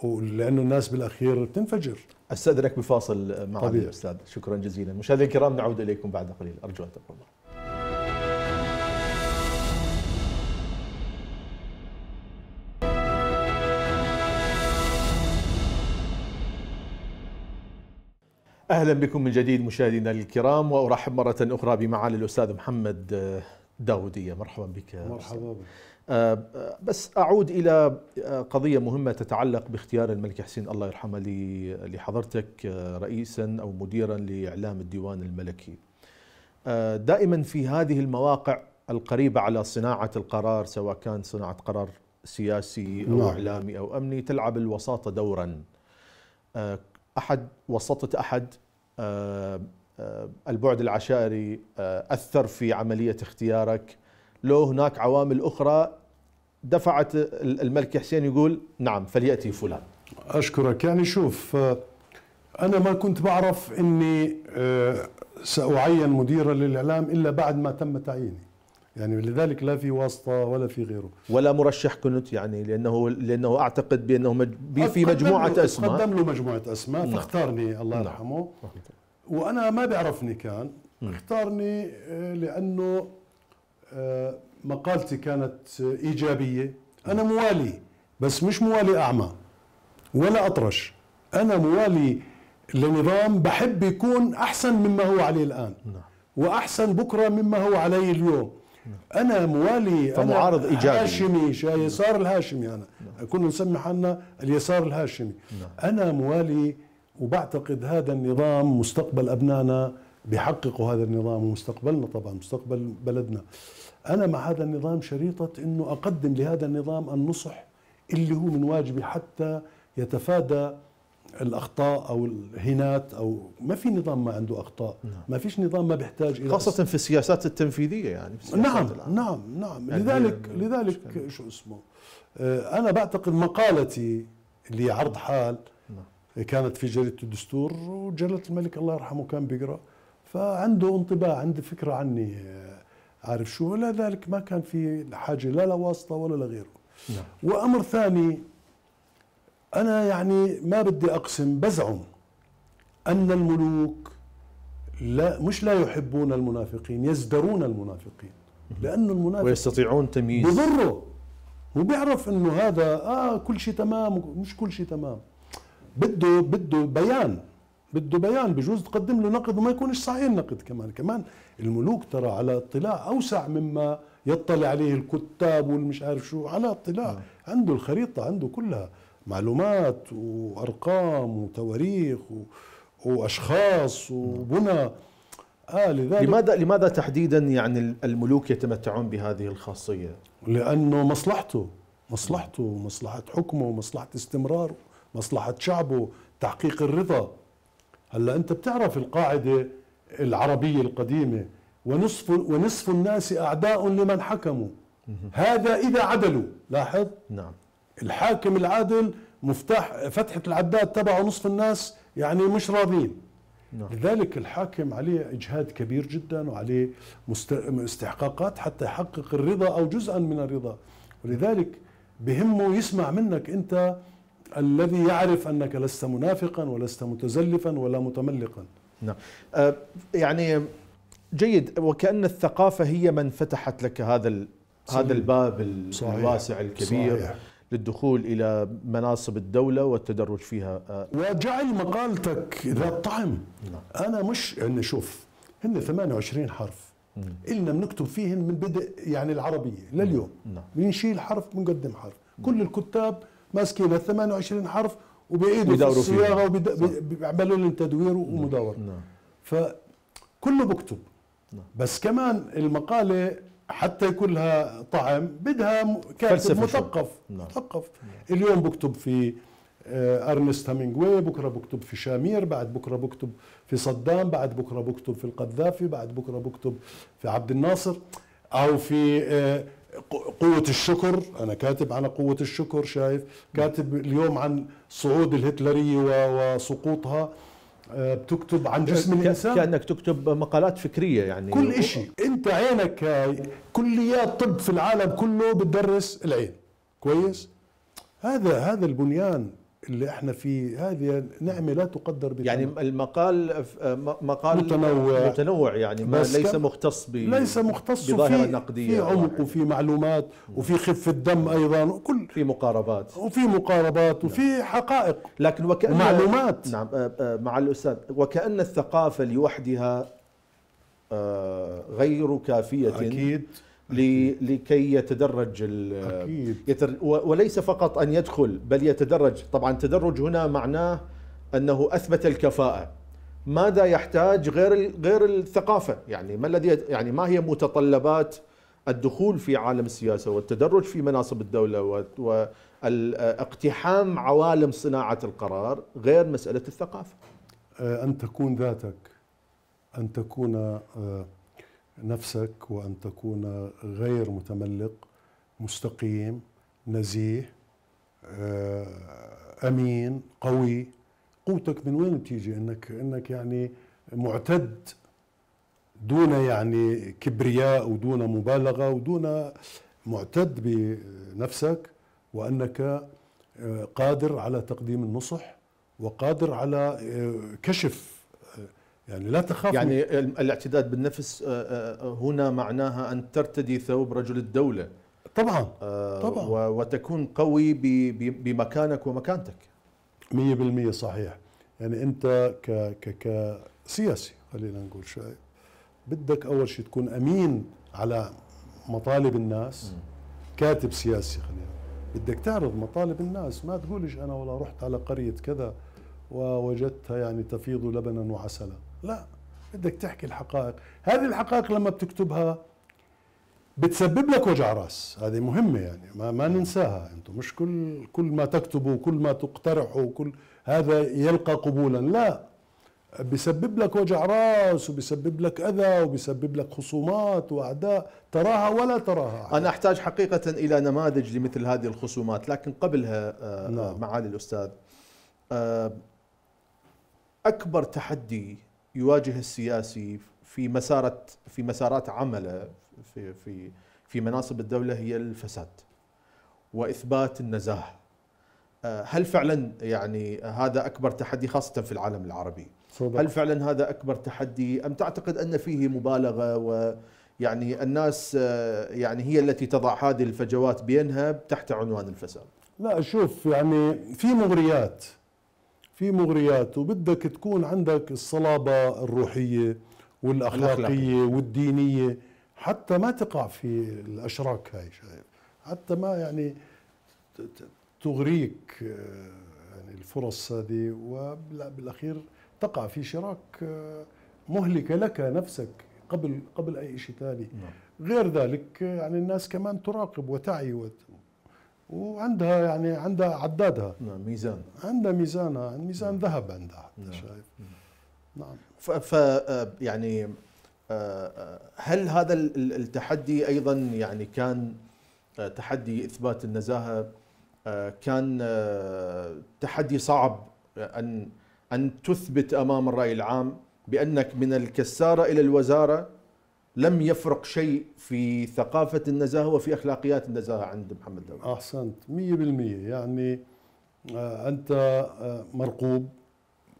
لأنه الناس بالأخير تنفجر. أستأذنك بفاصل مع الأستاذ. شكرا جزيلا. مشاهدينا الكرام نعود إليكم بعد قليل، أرجو أن تبقوا معنا. أهلا بكم من جديد مشاهدينا الكرام، وأرحب مرة أخرى بمعالي الأستاذ محمد داودية. مرحبا بك. مرحبا بك. بس أعود إلى قضية مهمة تتعلق باختيار الملك حسين الله يرحمه لحضرتك رئيسا أو مديرا لإعلام الديوان الملكي. دائما في هذه المواقع القريبة على صناعة القرار، سواء كان صناعة قرار سياسي أو نعم. إعلامي أو أمني، تلعب الوساطة دورا. أحد وسطة أحد البعد العشائري أثر في عملية اختيارك، لو هناك عوامل أخرى دفعت الملك حسين يقول نعم فليأتي فلان. أشكرك. يعني شوف، أنا ما كنت بعرف أني سأعين مديرا للإعلام إلا بعد ما تم تعييني، يعني لذلك لا في واسطة ولا في غيره ولا مرشح كنت، يعني لأنه لأنه أعتقد بأنه مج... في مجموعة أسماء، قدم له مجموعة أسماء نعم. فاختارني الله يرحمه نعم. وأنا ما بيعرفني كان م. اختارني لأنه مقالتي كانت إيجابية. أنا موالي، بس مش موالي أعمى ولا أطرش، أنا موالي لنظام بحب يكون أحسن مما هو عليه الآن وأحسن بكرة مما هو عليه اليوم. أنا موالي، فمعارض أنا إيجابي هاشمي، يسار الهاشمي، أنا كنا نسمي حالنا اليسار الهاشمي. أنا موالي وبعتقد هذا النظام مستقبل أبنائنا بيحققوا هذا النظام ومستقبلنا طبعا مستقبل بلدنا. أنا مع هذا النظام شريطة أنه أقدم لهذا النظام النصح اللي هو من واجبي حتى يتفادى الأخطاء أو الهينات. أو ما في نظام ما عنده أخطاء، ما فيش نظام ما بيحتاج إلى خاصة في السياسات التنفيذية. يعني في نعم نعم نعم يعني لذلك لذلك مشكلة. شو اسمه أنا بعتقد مقالتي اللي عرض حال نعم. كانت في جريدة الدستور وجلالة الملك الله يرحمه كان بيقرأ، فعنده انطباع، عنده فكرة عني عارف شو، ولا ذلك ما كان في حاجة لا لواسطة ولا لغيره. نعم. وأمر ثاني، أنا يعني ما بدي أقسم، بزعم أن الملوك لا مش لا يحبون المنافقين، يزدرون المنافقين، لأنه المنافق ويستطيعون تمييز بضره وبيعرف أنه هذا آه كل شيء تمام، مش كل شيء تمام، بده بده بيان، بده بيان، بجوز تقدم له نقد وما يكونش صحيح النقد. كمان كمان الملوك ترى على اطلاع أوسع مما يطلع عليه الكتاب والمش عارف شو، على اطلاع م. عنده الخريطة، عنده كلها معلومات وأرقام وتواريخ وأشخاص وبنى. آه لذلك لماذا لماذا تحديدا يعني الملوك يتمتعون بهذه الخاصية؟ لأنه مصلحته مصلحته مصلحة حكمه، مصلحة استمراره، مصلحة شعبه، تحقيق الرضا. هلا أنت بتعرف القاعدة العربية القديمة، ونصف ونصف الناس أعداء لمن حكموا، هذا إذا عدلوا. لاحظ نعم، الحاكم العادل مفتاح فتحة العداد تبعه نصف الناس يعني مش راضين، نعم. لذلك الحاكم عليه إجهاد كبير جدا وعليه استحقاقات حتى يحقق الرضا أو جزءا من الرضا، ولذلك بهمه يسمع منك أنت الذي يعرف أنك لست منافقا ولست متزلفا ولا متملقا. نعم. آه يعني جيد، وكأن الثقافة هي من فتحت لك هذا هذا الباب صحيح. الواسع الكبير صحيح. للدخول إلى مناصب الدولة والتدرج فيها، آه وجعل مقالتك ذات طعم. نعم. أنا مش يعني شوف هن ثمانية وعشرين حرف إلنا بنكتب فيهن من بدء يعني العربية لليوم. نعم. بنشيل حرف بنقدم حرف. نعم. كل الكتاب ماسكين ال ثمانية وعشرين حرف وبيعيدوا في الصياغة وبيعملوا لهم تدوير ومداورة. نعم. فكله بكتب. نعم. بس كمان المقالة حتى يكون لها طعم بدها كاتب مثقف. نعم. مثقف. نعم. اليوم بكتب في أرنست هامينغواي، بكرة بكتب في شامير، بعد بكرة بكتب في صدام، بعد بكرة بكتب في القذافي، بعد بكرة بكتب في عبد الناصر، أو في قوة الشكر. أنا كاتب عن قوة الشكر، شايف، كاتب اليوم عن صعود الهتلرية وسقوطها، بتكتب عن جسم الإنسان، كأنك تكتب مقالات فكرية يعني كل شيء. أنت عينك كليات طب في العالم كله بتدرس العين كويس. هذا هذا البنيان اللي احنا فيه، هذه نعمة لا تقدر بثمن. يعني المقال مقال متنوع, متنوع يعني ما ليس مختص ب ليس مختص بظاهرة نقدية، في عمق وفي معلومات وفي خفة دم أيضا، وكل في مقاربات وفي مقاربات وفي نعم. حقائق لكن وكأن ومعلومات. نعم مع الأستاذ، وكأن الثقافة لوحدها غير كافية أكيد لكي يتدرج أكيد. يتر وليس فقط أن يدخل بل يتدرج. طبعا التدرج هنا معناه أنه أثبت الكفاءة. ماذا يحتاج غير غير الثقافة؟ يعني ما الذي يعني ما هي متطلبات الدخول في عالم السياسة والتدرج في مناصب الدولة واقتحام عوالم صناعة القرار غير مسألة الثقافة؟ أن تكون ذاتك، أن تكون نفسك، وأن تكون غير متملق، مستقيم، نزيه، أمين، قوي. قوتك من وين بتيجي؟ إنك إنك يعني معتد دون يعني كبرياء ودون مبالغة ودون، معتد بنفسك، وأنك قادر على تقديم النصح وقادر على كشف، يعني لا تخاف. يعني الاعتداد بالنفس هنا معناها أن ترتدي ثوب رجل الدولة طبعا طبعا وتكون قوي بمكانك ومكانتك. مية بالمية صحيح. يعني أنت ك ك كسياسي خلينا نقول شيء، بدك أول شيء تكون أمين على مطالب الناس. م. كاتب سياسي خلينا، بدك تعرض مطالب الناس، ما تقولش أنا والله رحت على قرية كذا ووجدتها يعني تفيض لبنا وعسلا، لا، بدك تحكي الحقائق. هذه الحقائق لما بتكتبها بتسبب لك وجع راس، هذه مهمة يعني ما, ما ننساها. انتم مش كل كل ما تكتبوا وكل ما تقترحوا وكل هذا يلقى قبولا، لا، بيسبب لك وجع راس وبيسبب لك أذى وبيسبب لك خصومات وأعداء تراها ولا تراها. أنا أحتاج حقيقة إلى نماذج لمثل هذه الخصومات، لكن قبلها نعم. معالي الأستاذ، أكبر تحدي يواجه السياسي في مسارة في مسارات عمله في في في مناصب الدولة هي الفساد وإثبات النزاهة. هل فعلا يعني هذا أكبر تحدي خاصة في العالم العربي؟ صدق. هل فعلا هذا أكبر تحدي أم تعتقد أن فيه مبالغة ويعني الناس يعني هي التي تضع هذه الفجوات بينها تحت عنوان الفساد؟ لا شوف، يعني في مغريات في مغريات وبدك تكون عندك الصلابة الروحية والأخلاقية والدينية حتى ما تقع في الأشراك هاي، شايف، حتى ما يعني تغريك يعني الفرص هذه وبالأخير تقع في شراك مهلكة لك نفسك قبل قبل أي شيء ثاني. غير ذلك يعني الناس كمان تراقب وتعي وت... وعندها يعني عندها عدادها، نعم، ميزان، عندها ميزانها، ميزان ذهب عندها، نعم. شايف. نعم. ف يعني هل هذا التحدي أيضا يعني كان تحدي إثبات النزاهة كان تحدي صعب أن أن تثبت أمام الرأي العام بأنك من الكسارة إلى الوزارة لم يفرق شيء في ثقافة النزاهة وفي أخلاقيات النزاهة عند محمد داود. أحسنت مية بالمية. يعني أنت مرقوب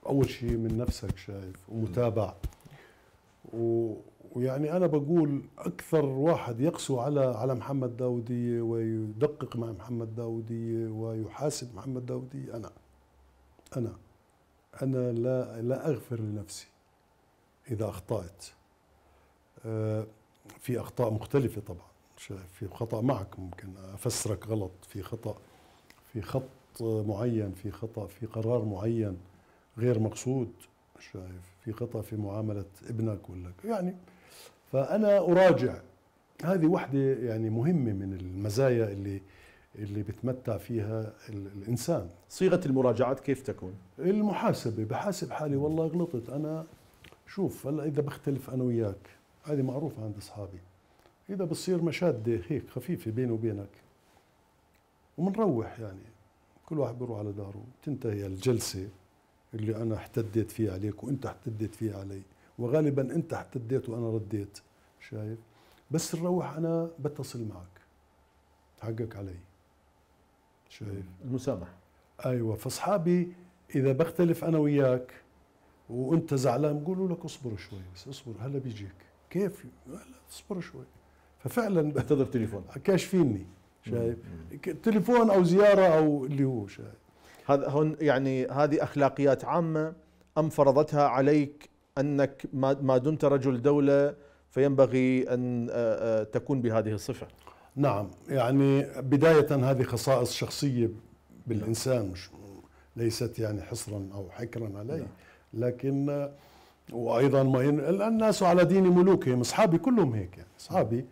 أول شيء من نفسك شايف ومتابع، ويعني أنا بقول أكثر واحد يقسو على على محمد داودية ويدقق مع محمد داودية ويحاسب محمد داودية أنا أنا أنا لا لا أغفر لنفسي إذا أخطأت. في أخطاء مختلفة طبعا، شايف في خطأ معك ممكن أفسرك غلط، في خطأ في خط معين، في خطأ في قرار معين غير مقصود، شايف في خطأ في معاملة ابنك ولا يعني. فأنا أراجع، هذه وحدة يعني مهمة من المزايا اللي اللي بتمتع فيها الإنسان. صيغة المراجعات كيف تكون؟ المحاسبة، بحاسب حالي والله غلطت أنا. شوف هلا إذا بختلف أنا وياك هذه معروفة عند أصحابي، إذا بصير مشادة هيك خفيفة بيني وبينك ومنروح، يعني كل واحد بيروح على داره، تنتهي الجلسة اللي أنا احتديت فيها عليك وأنت احتديت فيها علي، وغالبا أنت احتديت وأنا رديت، شايف؟ بس نروح أنا بتصل معك، حقك علي، شايف؟ المسامحة. أيوة. فأصحابي إذا بختلف أنا وياك وأنت زعلان بقولوا لك اصبر شوي، بس اصبر هلا بيجيك. كيف؟ هلا اصبر شوي. ففعلا انتظر تليفون كاشفيني، شايف؟ تليفون أو زيارة أو اللي هو، شايف؟ هذا هون يعني هذه أخلاقيات عامة أم فرضتها عليك أنك ما دمت رجل دولة فينبغي أن تكون بهذه الصفة؟ نعم، يعني بداية هذه خصائص شخصية بالإنسان، مش ليست يعني حصرا أو حكرا علي، لكن وأيضا ما ين... الناس على دين ملوكهم. أصحابي كلهم هيك، يعني أصحابي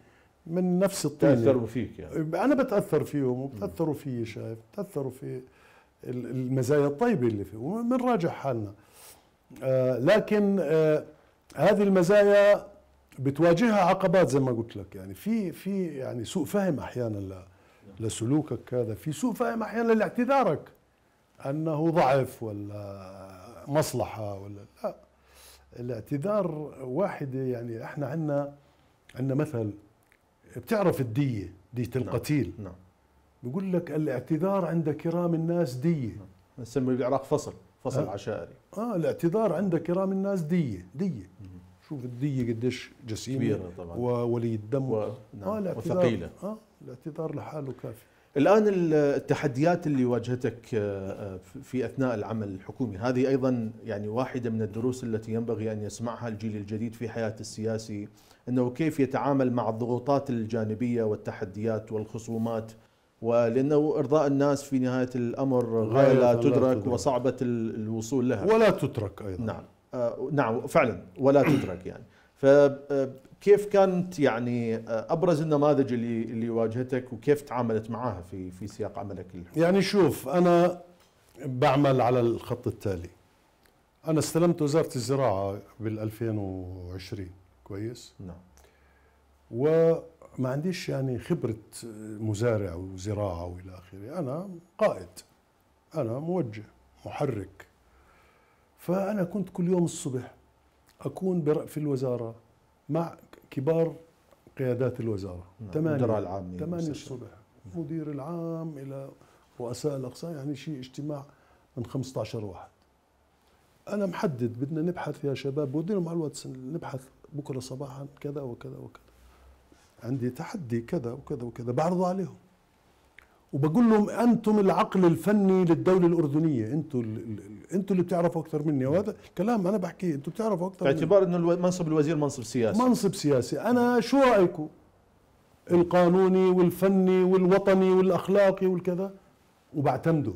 من نفس الطين، تأثروا فيك يعني. أنا بتأثر فيهم وبتأثروا فيي، شايف؟ بتأثروا في المزايا الطيبة اللي فيه ومنراجع حالنا. آه لكن آه هذه المزايا بتواجهها عقبات زي ما قلت لك، يعني في في يعني سوء فهم أحيانا لسلوكك هذا، في سوء فهم أحيانا لاعتذارك أنه ضعف ولا مصلحة ولا لا. الاعتذار واحدة، يعني احنا عندنا عندنا مثل، بتعرف الدية، دية القتيل. نعم. بيقول لك الاعتذار عند كرام الناس دية. نعم. نسميه بالعراق فصل فصل آه. عشائري. اه الاعتذار عند كرام الناس دية دية. شوف الدية قديش جسيمة كبيرة طبعا وولي الدم و... نعم. آه وثقيلة. اه الاعتذار لحاله كافي. الآن التحديات اللي واجهتك في أثناء العمل الحكومي، هذه أيضا يعني واحدة من الدروس التي ينبغي أن يسمعها الجيل الجديد في حياة السياسي، أنه كيف يتعامل مع الضغوطات الجانبية والتحديات والخصومات، ولأنه إرضاء الناس في نهاية الأمر غاية لا تدرك وصعبة الوصول لها ولا تترك أيضا. نعم آه نعم فعلا ولا تترك يعني. فكيف كانت يعني ابرز النماذج اللي اللي واجهتك وكيف تعاملت معها في في سياق عملك الحكومي؟ يعني شوف انا بعمل على الخط التالي. انا استلمت وزارة الزراعة بال ألفين وعشرين، كويس؟ نعم. وما عنديش يعني خبرة مزارع وزراعة والى اخره، انا قائد، انا موجه محرك. فانا كنت كل يوم الصبح اكون في الوزارة مع كبار قيادات الوزارة، المدراء العام، ثمانية الصبح، مدير العام إلى رؤساء الأقسام، يعني شيء اجتماع من خمسة عشر واحد. أنا محدد بدنا نبحث يا شباب، بوديهم على الواتس نبحث بكرة صباحا كذا وكذا وكذا، عندي تحدي كذا وكذا وكذا، بعرضه عليهم وبقول لهم أنتم العقل الفني للدولة الأردنية، أنتم أنتم اللي بتعرفوا أكثر مني، وهذا كلام أنا بحكيه، أنتم بتعرفوا أكثر مني، باعتبار إنه منصب الوزير منصب سياسي. منصب سياسي. أنا شو رأيكم؟ القانوني والفني والوطني والأخلاقي والكذا، وبعتمده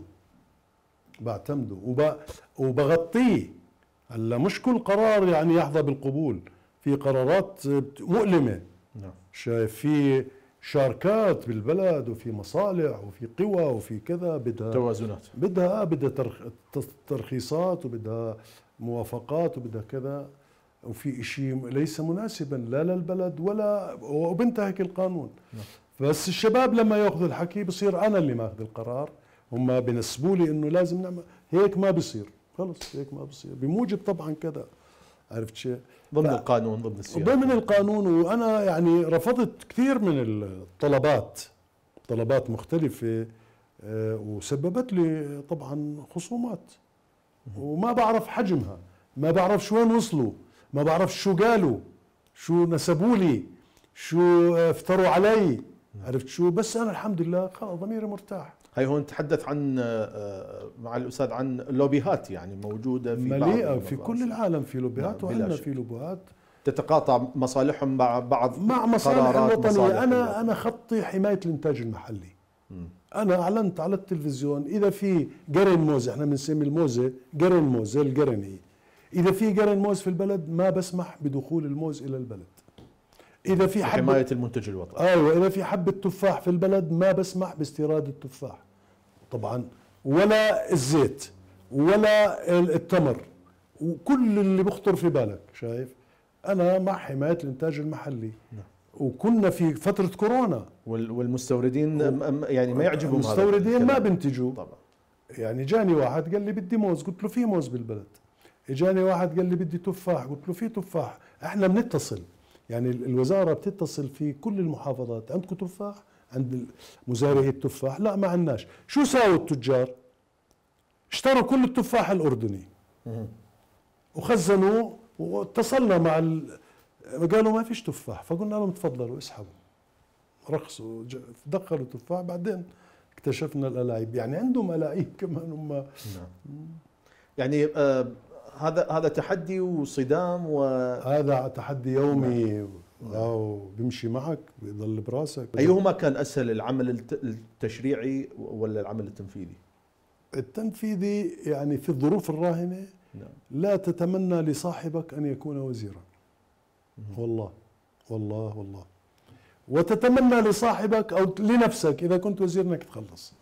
بعتمده وب... وبغطيه. هلا مش كل قرار يعني يحظى بالقبول، في قرارات مؤلمة. نعم. شايف في شاركات بالبلد وفي مصالح وفي قوى وفي كذا، بدها توازنات، بدها بدها ترخ... ترخيصات وبدها موافقات وبدها كذا، وفي شيء ليس مناسبا لا للبلد ولا وبنتهك القانون. نعم. بس الشباب لما ياخذوا الحكي بصير انا اللي ماخذ القرار، هم بنسبوا لي انه لازم نعمل هيك، ما بصير، خلص هيك ما بصير بموجب طبعا كذا، عرفت شيء؟ ضمن ف... القانون، ضمن السياسة، ضمن القانون. وانا يعني رفضت كثير من الطلبات، طلبات مختلفة، وسببت لي طبعا خصومات، وما بعرف حجمها، ما بعرف شو وين وصلوا، ما بعرف شو قالوا، شو نسبوا لي، شو افتروا علي، عرفت شو؟ بس انا الحمد لله خلص ضميري مرتاح. هي هون نتحدث عن مع الاستاذ عن لوبيهات يعني موجوده في مليئه في كل العالم، في لوبيهات وعندنا في لوبيهات تتقاطع مصالحهم مع بعض مع مصالح الوطنيه. انا انا خطي حمايه الانتاج المحلي. م. انا اعلنت على التلفزيون اذا في قرن موز، احنا بنسمي الموزه قرن موز زي القرن، هي اذا في قرن موز في البلد ما بسمح بدخول الموز الى البلد. اذا في حبه حمايه المنتج الوطني، ايوه اذا في حبه تفاح في البلد ما بسمح باستيراد التفاح طبعا، ولا الزيت ولا التمر وكل اللي بخطر في بالك. شايف؟ انا مع حمايه الانتاج المحلي. نعم. وكنا في فتره كورونا والمستوردين يعني ما يعجبهم هذا، المستوردين ما بنتجوا طبعا. يعني جاني واحد قال لي بدي موز، قلت له في موز بالبلد. اجاني واحد قال لي بدي تفاح، قلت له في تفاح. احنا بنتصل، يعني الوزاره بتتصل في كل المحافظات، عندكم تفاح؟ عند مزارعي التفاح؟ لا ما عندناش. شو ساووا التجار؟ اشتروا كل التفاح الاردني وخزنوه، واتصلنا مع ال... قالوا ما فيش تفاح، فقلنا لهم تفضلوا اسحبوا، رخصوا دخلوا تفاح. بعدين اكتشفنا الالاعيب، يعني عندهم الاعيب كمان هم. نعم. يعني آه هذا هذا تحدي وصدام، وهذا تحدي يومي. أو بيمشي معك بيضل براسك. أيهما كان أسهل، العمل التشريعي ولا العمل التنفيذي؟ التنفيذي يعني في الظروف الراهنة لا تتمنى لصاحبك أن يكون وزيرا، والله والله والله، وتتمنى لصاحبك أو لنفسك إذا كنت وزير أنك تخلص.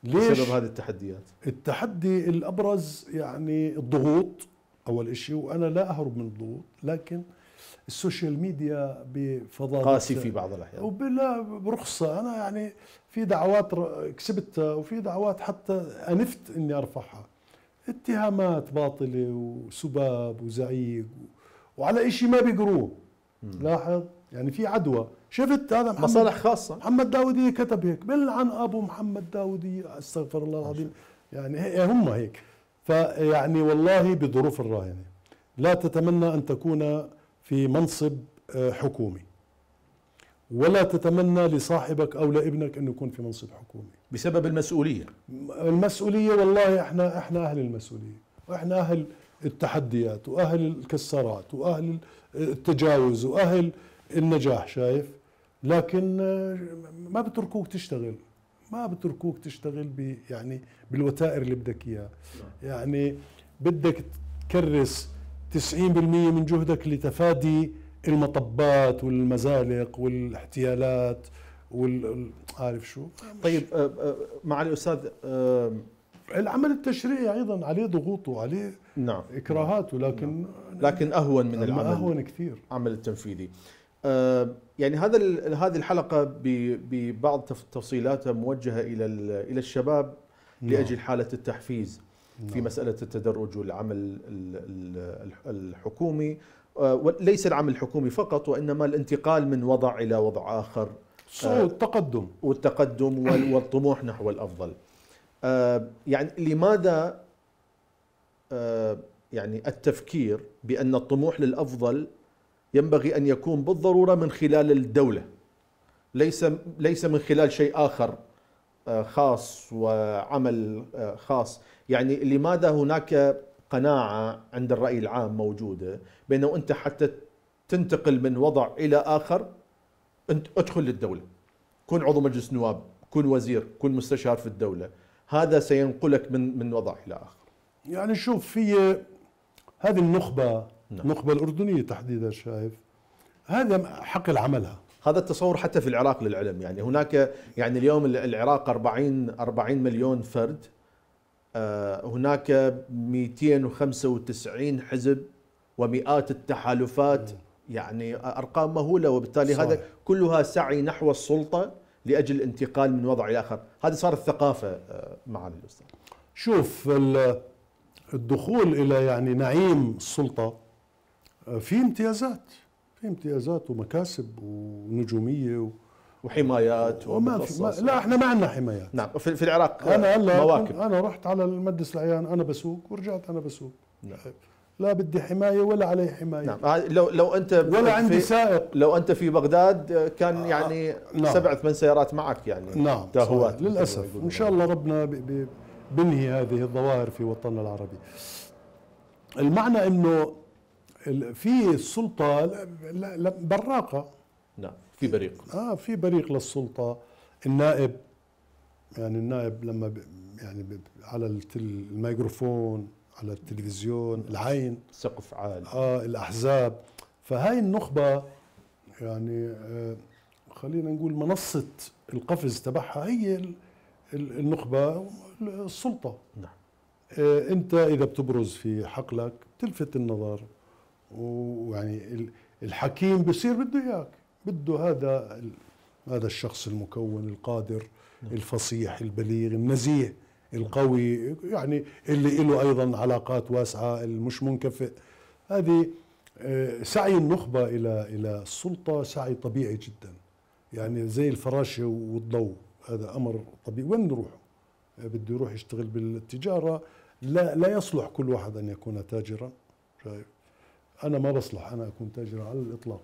ليش؟ بسبب هذه التحديات. التحدي الأبرز يعني الضغوط أول إشي، وأنا لا أهرب من الضغوط، لكن السوشيال ميديا بفضاء قاسي في بعض الأحيان وبلا برخصة. أنا يعني في دعوات كسبتها وفي دعوات حتى أنفت إني أرفعها، اتهامات باطلة وسباب وزعيق وعلى إشي ما بيقروه. لاحظ يعني في عدوى. شفت هذا محمد مصالح خاصة. محمد داودية كتب هيك، بلعن أبو محمد داودية، استغفر الله العظيم. يعني هم هيك. فيعني والله بظروف الراهنة لا تتمنى أن تكون في منصب حكومي، ولا تتمنى لصاحبك أو لابنك أن يكون في منصب حكومي بسبب المسؤولية. المسؤولية والله احنا احنا أهل المسؤولية، واحنا أهل التحديات وأهل الكسرات وأهل التجاوز وأهل النجاح. شايف؟ لكن ما بتركوك تشتغل، ما بتركوك تشتغل ب يعني بالوتائر اللي بدك اياها. يعني بدك تكرس تسعين بالمئة من جهدك لتفادي المطبات والمزالق والاحتيالات وال عارف شو. طيب مع الأستاذ، العمل التشريعي أيضا عليه ضغوطه وعليه نعم إكراهاته، لكن نعم. لكن أهون من العمل أهون كثير عمل التنفيذي. يعني هذا هذه الحلقة ببعض تفصيلاتها موجهة إلى إلى الشباب لأجل حالة التحفيز في مسألة التدرج والعمل الحكومي، وليس العمل الحكومي فقط، وإنما الانتقال من وضع إلى وضع آخر، التقدم والتقدم والطموح نحو الأفضل. يعني لماذا يعني التفكير بأن الطموح للأفضل ينبغي أن يكون بالضرورة من خلال الدولة، ليس ليس من خلال شيء آخر خاص وعمل خاص؟ يعني لماذا هناك قناعة عند الرأي العام موجودة بأنه أنت حتى تنتقل من وضع إلى آخر أنت ادخل للدولة، كن عضو مجلس نواب، كن وزير، كن مستشار في الدولة، هذا سينقلك من من وضع إلى آخر. يعني شوف، في هذه النخبة نعم. النخبة الأردنية تحديدا، شايف هذا حق العملها. هذا التصور حتى في العراق للعلم، يعني هناك يعني اليوم العراق أربعين مليون فرد، هناك مئتين وخمسة وتسعين حزب ومئات التحالفات، يعني أرقام مهولة، وبالتالي صحيح. هذا كلها سعي نحو السلطة لأجل الانتقال من وضع إلى آخر. هذه صارت ثقافة معالي الأستاذ. شوف الدخول الى يعني نعيم السلطه في امتيازات، في امتيازات ومكاسب ونجوميه و وحمايات وما في ما لا احنا ما عندنا حمايات. نعم في, في العراق انا هلا مواكب. انا رحت على المجلس العيان انا بسوق ورجعت انا بسوق. نعم. لا بدي حمايه ولا علي حمايه. نعم لو لو انت ولا عندي سائق. لو انت في بغداد كان يعني نعم. سبع ثمان سيارات معك يعني. نعم تاهوات للاسف. ان شاء الله ربنا بنهي هذه الظواهر في وطننا العربي. المعنى انه في السلطه براقه. نعم في بريق. اه في بريق للسلطه. النائب يعني النائب لما يعني على الميكروفون على التلفزيون العين سقف عالي. اه الاحزاب. فهاي النخبه يعني آه خلينا نقول منصه القفز تبعها هي النخبه السلطه. نعم. آه انت اذا بتبرز في حقلك تلفت النظر ويعني الحكيم بصير بده اياك، بده هذا هذا الشخص المكون القادر الفصيح البليغ النزيه القوي يعني اللي له ايضا علاقات واسعه المش منكفئ. هذه سعي النخبه الى الى السلطه سعي طبيعي جدا، يعني زي الفراشه والضوء، هذا امر طبيعي. وين نروح؟ بده يروح يشتغل بالتجاره، لا لا يصلح كل واحد ان يكون تاجرا. شايف؟ انا ما بصلح انا اكون تاجرا على الاطلاق.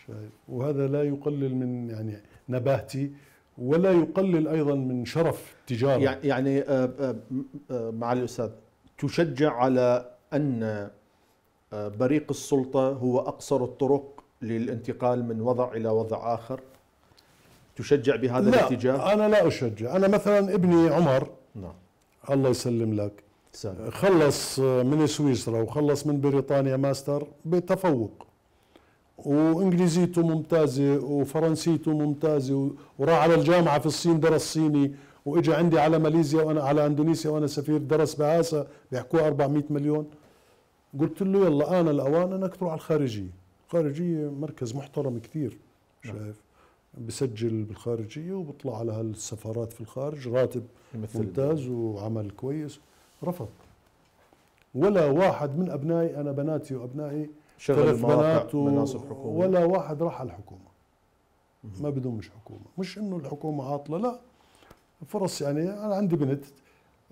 شايف؟ وهذا لا يقلل من يعني نباهتي ولا يقلل ايضا من شرف التجاره. يعني معالي الاستاذ تشجع على ان بريق السلطه هو اقصر الطرق للانتقال من وضع الى وضع اخر؟ تشجع بهذا لا الاتجاه؟ انا لا اشجع. انا مثلا ابني عمر نعم الله يسلم لك سلام. خلص من سويسرا وخلص من بريطانيا ماستر بتفوق، وانجليزيته ممتازه وفرنسيته ممتازه، وراح على الجامعه في الصين درس صيني، واجى عندي على ماليزيا وانا على اندونيسيا وانا سفير درس بهاسا بيحكوها أربعمئة مليون. قلت له يلا انا الاوان انك تروح على الخارجيه. الخارجيه مركز محترم كثير. شايف؟ بسجل بالخارجيه وبطلع على هالسفارات في الخارج، راتب ممتاز وعمل كويس. رفض. ولا واحد من ابنائي، انا بناتي وابنائي ثلاث بنات مناصب حكومه، ولا واحد راح على الحكومه. ما بدهم مش حكومه، مش انه الحكومه عاطله، لا فرص. يعني انا عندي بنت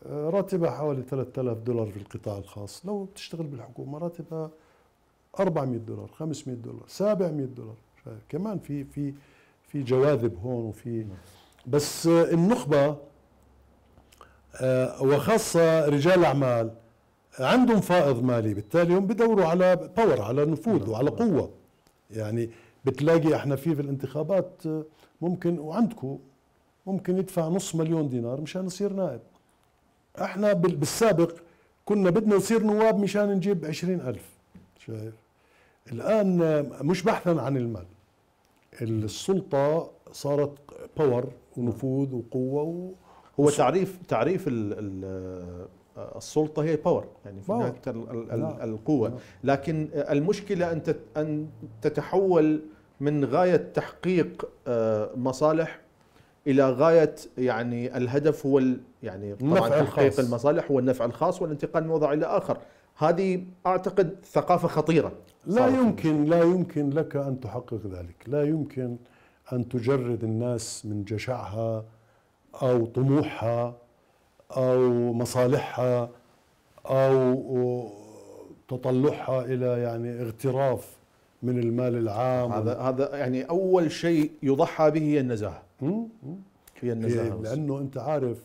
راتبها حوالي ثلاثة آلاف دولار في القطاع الخاص، لو بتشتغل بالحكومه راتبها أربعمئة دولار خمسمئة دولار سبعمئة دولار. كمان في في في جواذب هون وفي بس النخبه وخاصه رجال الاعمال عندهم فائض مالي، بالتالي هم بدوروا على باور، على نفوذ وعلى قوه. يعني بتلاقي احنا في في الانتخابات ممكن وعندكم ممكن يدفع نص مليون دينار مشان يصير نائب. احنا بالسابق كنا بدنا نصير نواب مشان نجيب عشرين ألف. شايف؟ الآن مش بحثا عن المال، السلطة صارت باور ونفوذ وقوة و... هو تعريف تعريف ال ال السلطة هي باور، يعني في نهاية القوة. لكن المشكلة أن أن تتحول من غاية تحقيق مصالح إلى غاية يعني الهدف هو يعني طبعا تحقيق المصالح والنفع الخاص والانتقال من وضع إلى آخر. هذه أعتقد ثقافة خطيرة. لا يمكن لا يمكن لك أن تحقق ذلك، لا يمكن أن تجرد الناس من جشعها أو طموحها أو مصالحها أو تطلعها إلى يعني اغتراف من المال العام. هذا هذا يعني أول شيء يضحى به هي النزاهة. هي النزاهة. لأنه أنت عارف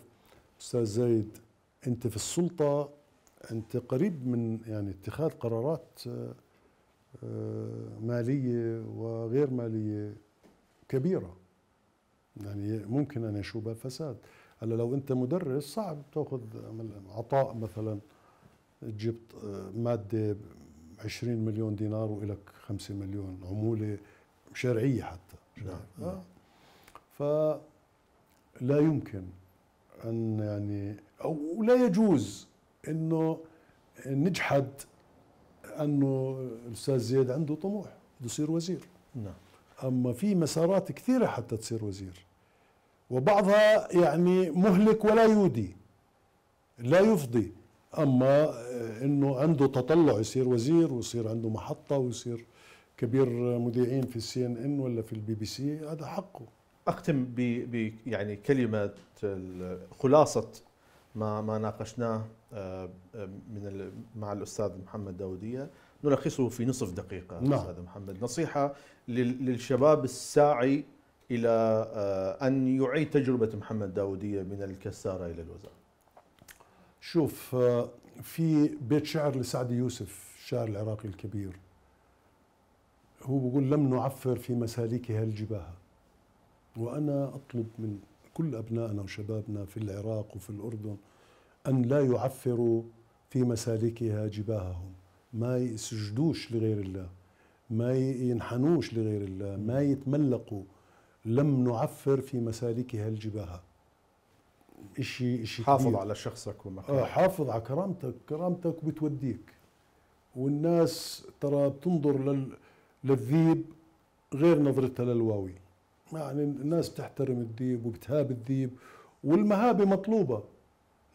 أستاذ زيد، أنت في السلطة أنت قريب من يعني اتخاذ قرارات مالية وغير مالية كبيرة، يعني ممكن أن يشوبها فساد. هلا لو أنت مدرس صعب تأخذ عطاء مثلا جبت مادة عشرين مليون دينار وإلك خمسة مليون عمولة شرعية حتى. نعم. آه. فلا يمكن أن يعني أو لا يجوز إنه نجحد أنه الأستاذ زيد عنده طموح بده يصير وزير. نعم. أما في مسارات كثيرة حتى تصير وزير، وبعضها يعني مهلك ولا يودي لا يفضي. أما انه عنده تطلع يصير وزير ويصير عنده محطه ويصير كبير مذيعين في السي ان ان ولا في البي بي سي، هذا حقه. اختم ب ب يعني كلمه خلاصه ما ما ناقشناه من مع الاستاذ محمد داوديه، نلخصه في نصف دقيقه. نعم. استاذ محمد، نصيحه للشباب الساعي الى ان يعيد تجربه محمد داوديه من الكساره الى الوزاره. شوف، في بيت شعر لسعد يوسف الشاعر العراقي الكبير، هو بيقول: لم نعفر في مسالكها الجباهة. وأنا أطلب من كل أبنائنا وشبابنا في العراق وفي الأردن أن لا يعفروا في مسالكها جباههم، ما يسجدوش لغير الله، ما ينحنوش لغير الله، ما يتملقوا. لم نعفر في مسالكها الجباهة. إشي إشي حافظ كبير. على شخصك ومكانك. آه حافظ على كرامتك، كرامتك بتوديك. والناس ترى بتنظر لل للذيب غير نظرتها للواوي. يعني الناس بتحترم الذيب وبتهاب الذيب، والمهابة مطلوبة.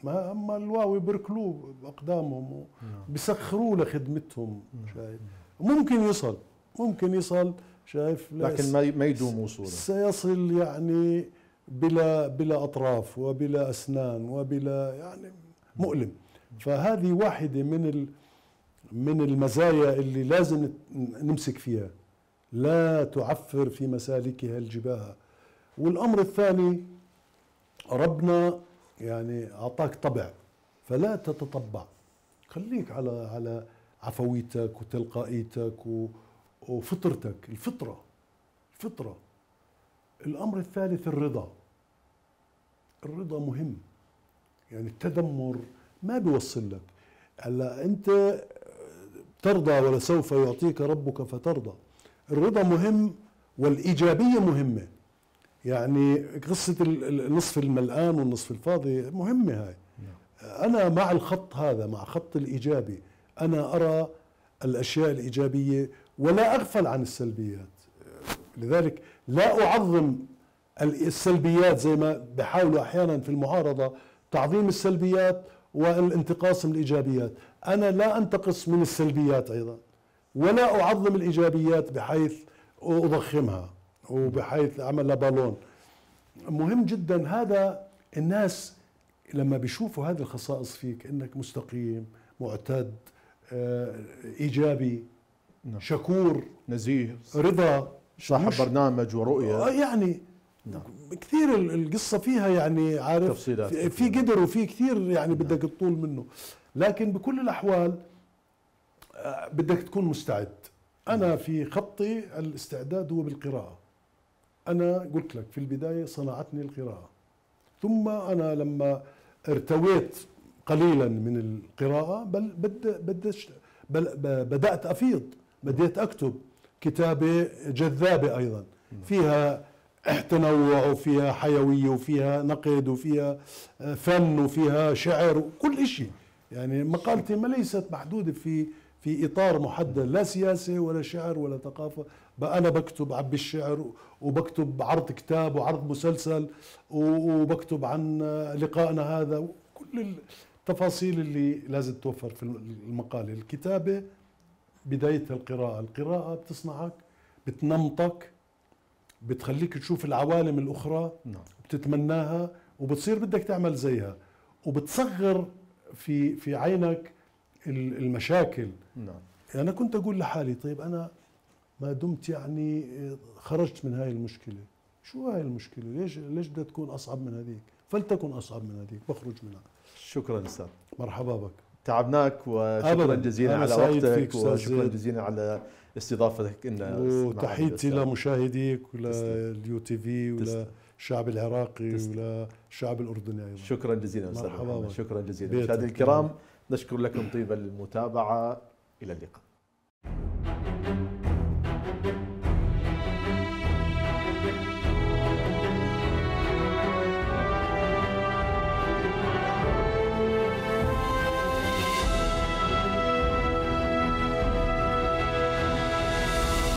ما اما الواوي بركلوه باقدامهم وبسخروه لخدمتهم. شايف؟ ممكن يصل ممكن يصل شايف، لكن ما ما يدوم وصوله. سيصل يعني بلا بلا اطراف وبلا اسنان وبلا يعني مؤلم. فهذه واحدة من ال من المزايا اللي لازم نمسك فيها، لا تعفر في مسالكها الجباهة. والأمر الثاني، ربنا يعني أعطاك طبع، فلا تتطبع، خليك على على عفويتك وتلقائيتك وفطرتك، الفطرة الفطرة. الأمر الثالث الرضا. الرضا مهم، يعني التذمر ما بيوصل لك. هلا أنت ترضى ولسوف يعطيك ربك فترضى. الرضا مهم والإيجابية مهمة. يعني قصة النصف الملآن والنصف الفاضي مهمة هاي. أنا مع الخط هذا، مع خط الإيجابي. أنا أرى الأشياء الإيجابية ولا أغفل عن السلبيات. لذلك لا أعظم السلبيات زي ما بحاولوا أحيانا في المعارضة تعظيم السلبيات والانتقاص من الإيجابيات. أنا لا أنتقص من السلبيات أيضا، ولا أعظم الإيجابيات بحيث أضخمها وبحيث أعملها بالون. مهم جدا هذا. الناس لما بيشوفوا هذه الخصائص فيك، إنك مستقيم، معتد، إيجابي، شكور، نزيه، رضا، صاحب برنامج ورؤية، يعني نعم. كثير القصة فيها يعني عارف تفصيلات في قدر وفي كثير يعني بدك تطول منه. لكن بكل الأحوال بدك تكون مستعد. أنا في خطي الاستعداد هو بالقراءة. أنا قلت لك في البداية صنعتني القراءة، ثم أنا لما ارتويت قليلا من القراءة بل بدأت بدأت أفيض، بديت أكتب كتابة جذابة أيضا، فيها تنوع وفيها حيوية وفيها نقد وفيها فن وفيها شعر وكل شيء. يعني مقالتي ما ليست محدودة في في إطار محدد، لا سياسة ولا شعر ولا ثقافة. بقى أنا بكتب عبي الشعر وبكتب عرض كتاب وعرض مسلسل وبكتب عن لقائنا هذا، وكل التفاصيل اللي لازم توفر في المقالة. الكتابة بدايتها القراءة. القراءة بتصنعك، بتنمطك، بتخليك تشوف العوالم الأخرى، بتتمناها وبتصير بدك تعمل زيها، وبتصغر في في عينك المشاكل. نعم. يعني أنا كنت أقول لحالي طيب أنا ما دمت يعني خرجت من هاي المشكلة، شو هاي المشكلة؟ ليش ليش بدها تكون أصعب من هذيك؟ فلتكن أصعب من هذيك، بخرج منها. شكرا أستاذ. مرحبا بك. تعبناك وشكرا جزيلا على وقتك، وشكرا جزيلا على استضافتك لنا. وتحياتي لمشاهديك ولليو تي في وللشعب العراقي وللشعب الأردني أيضا. شكرا جزيلا أستاذ محمد. شكرا جزيلا. مشاهدينا الكرام، نشكر لكم طيب المتابعة. إلى اللقاء.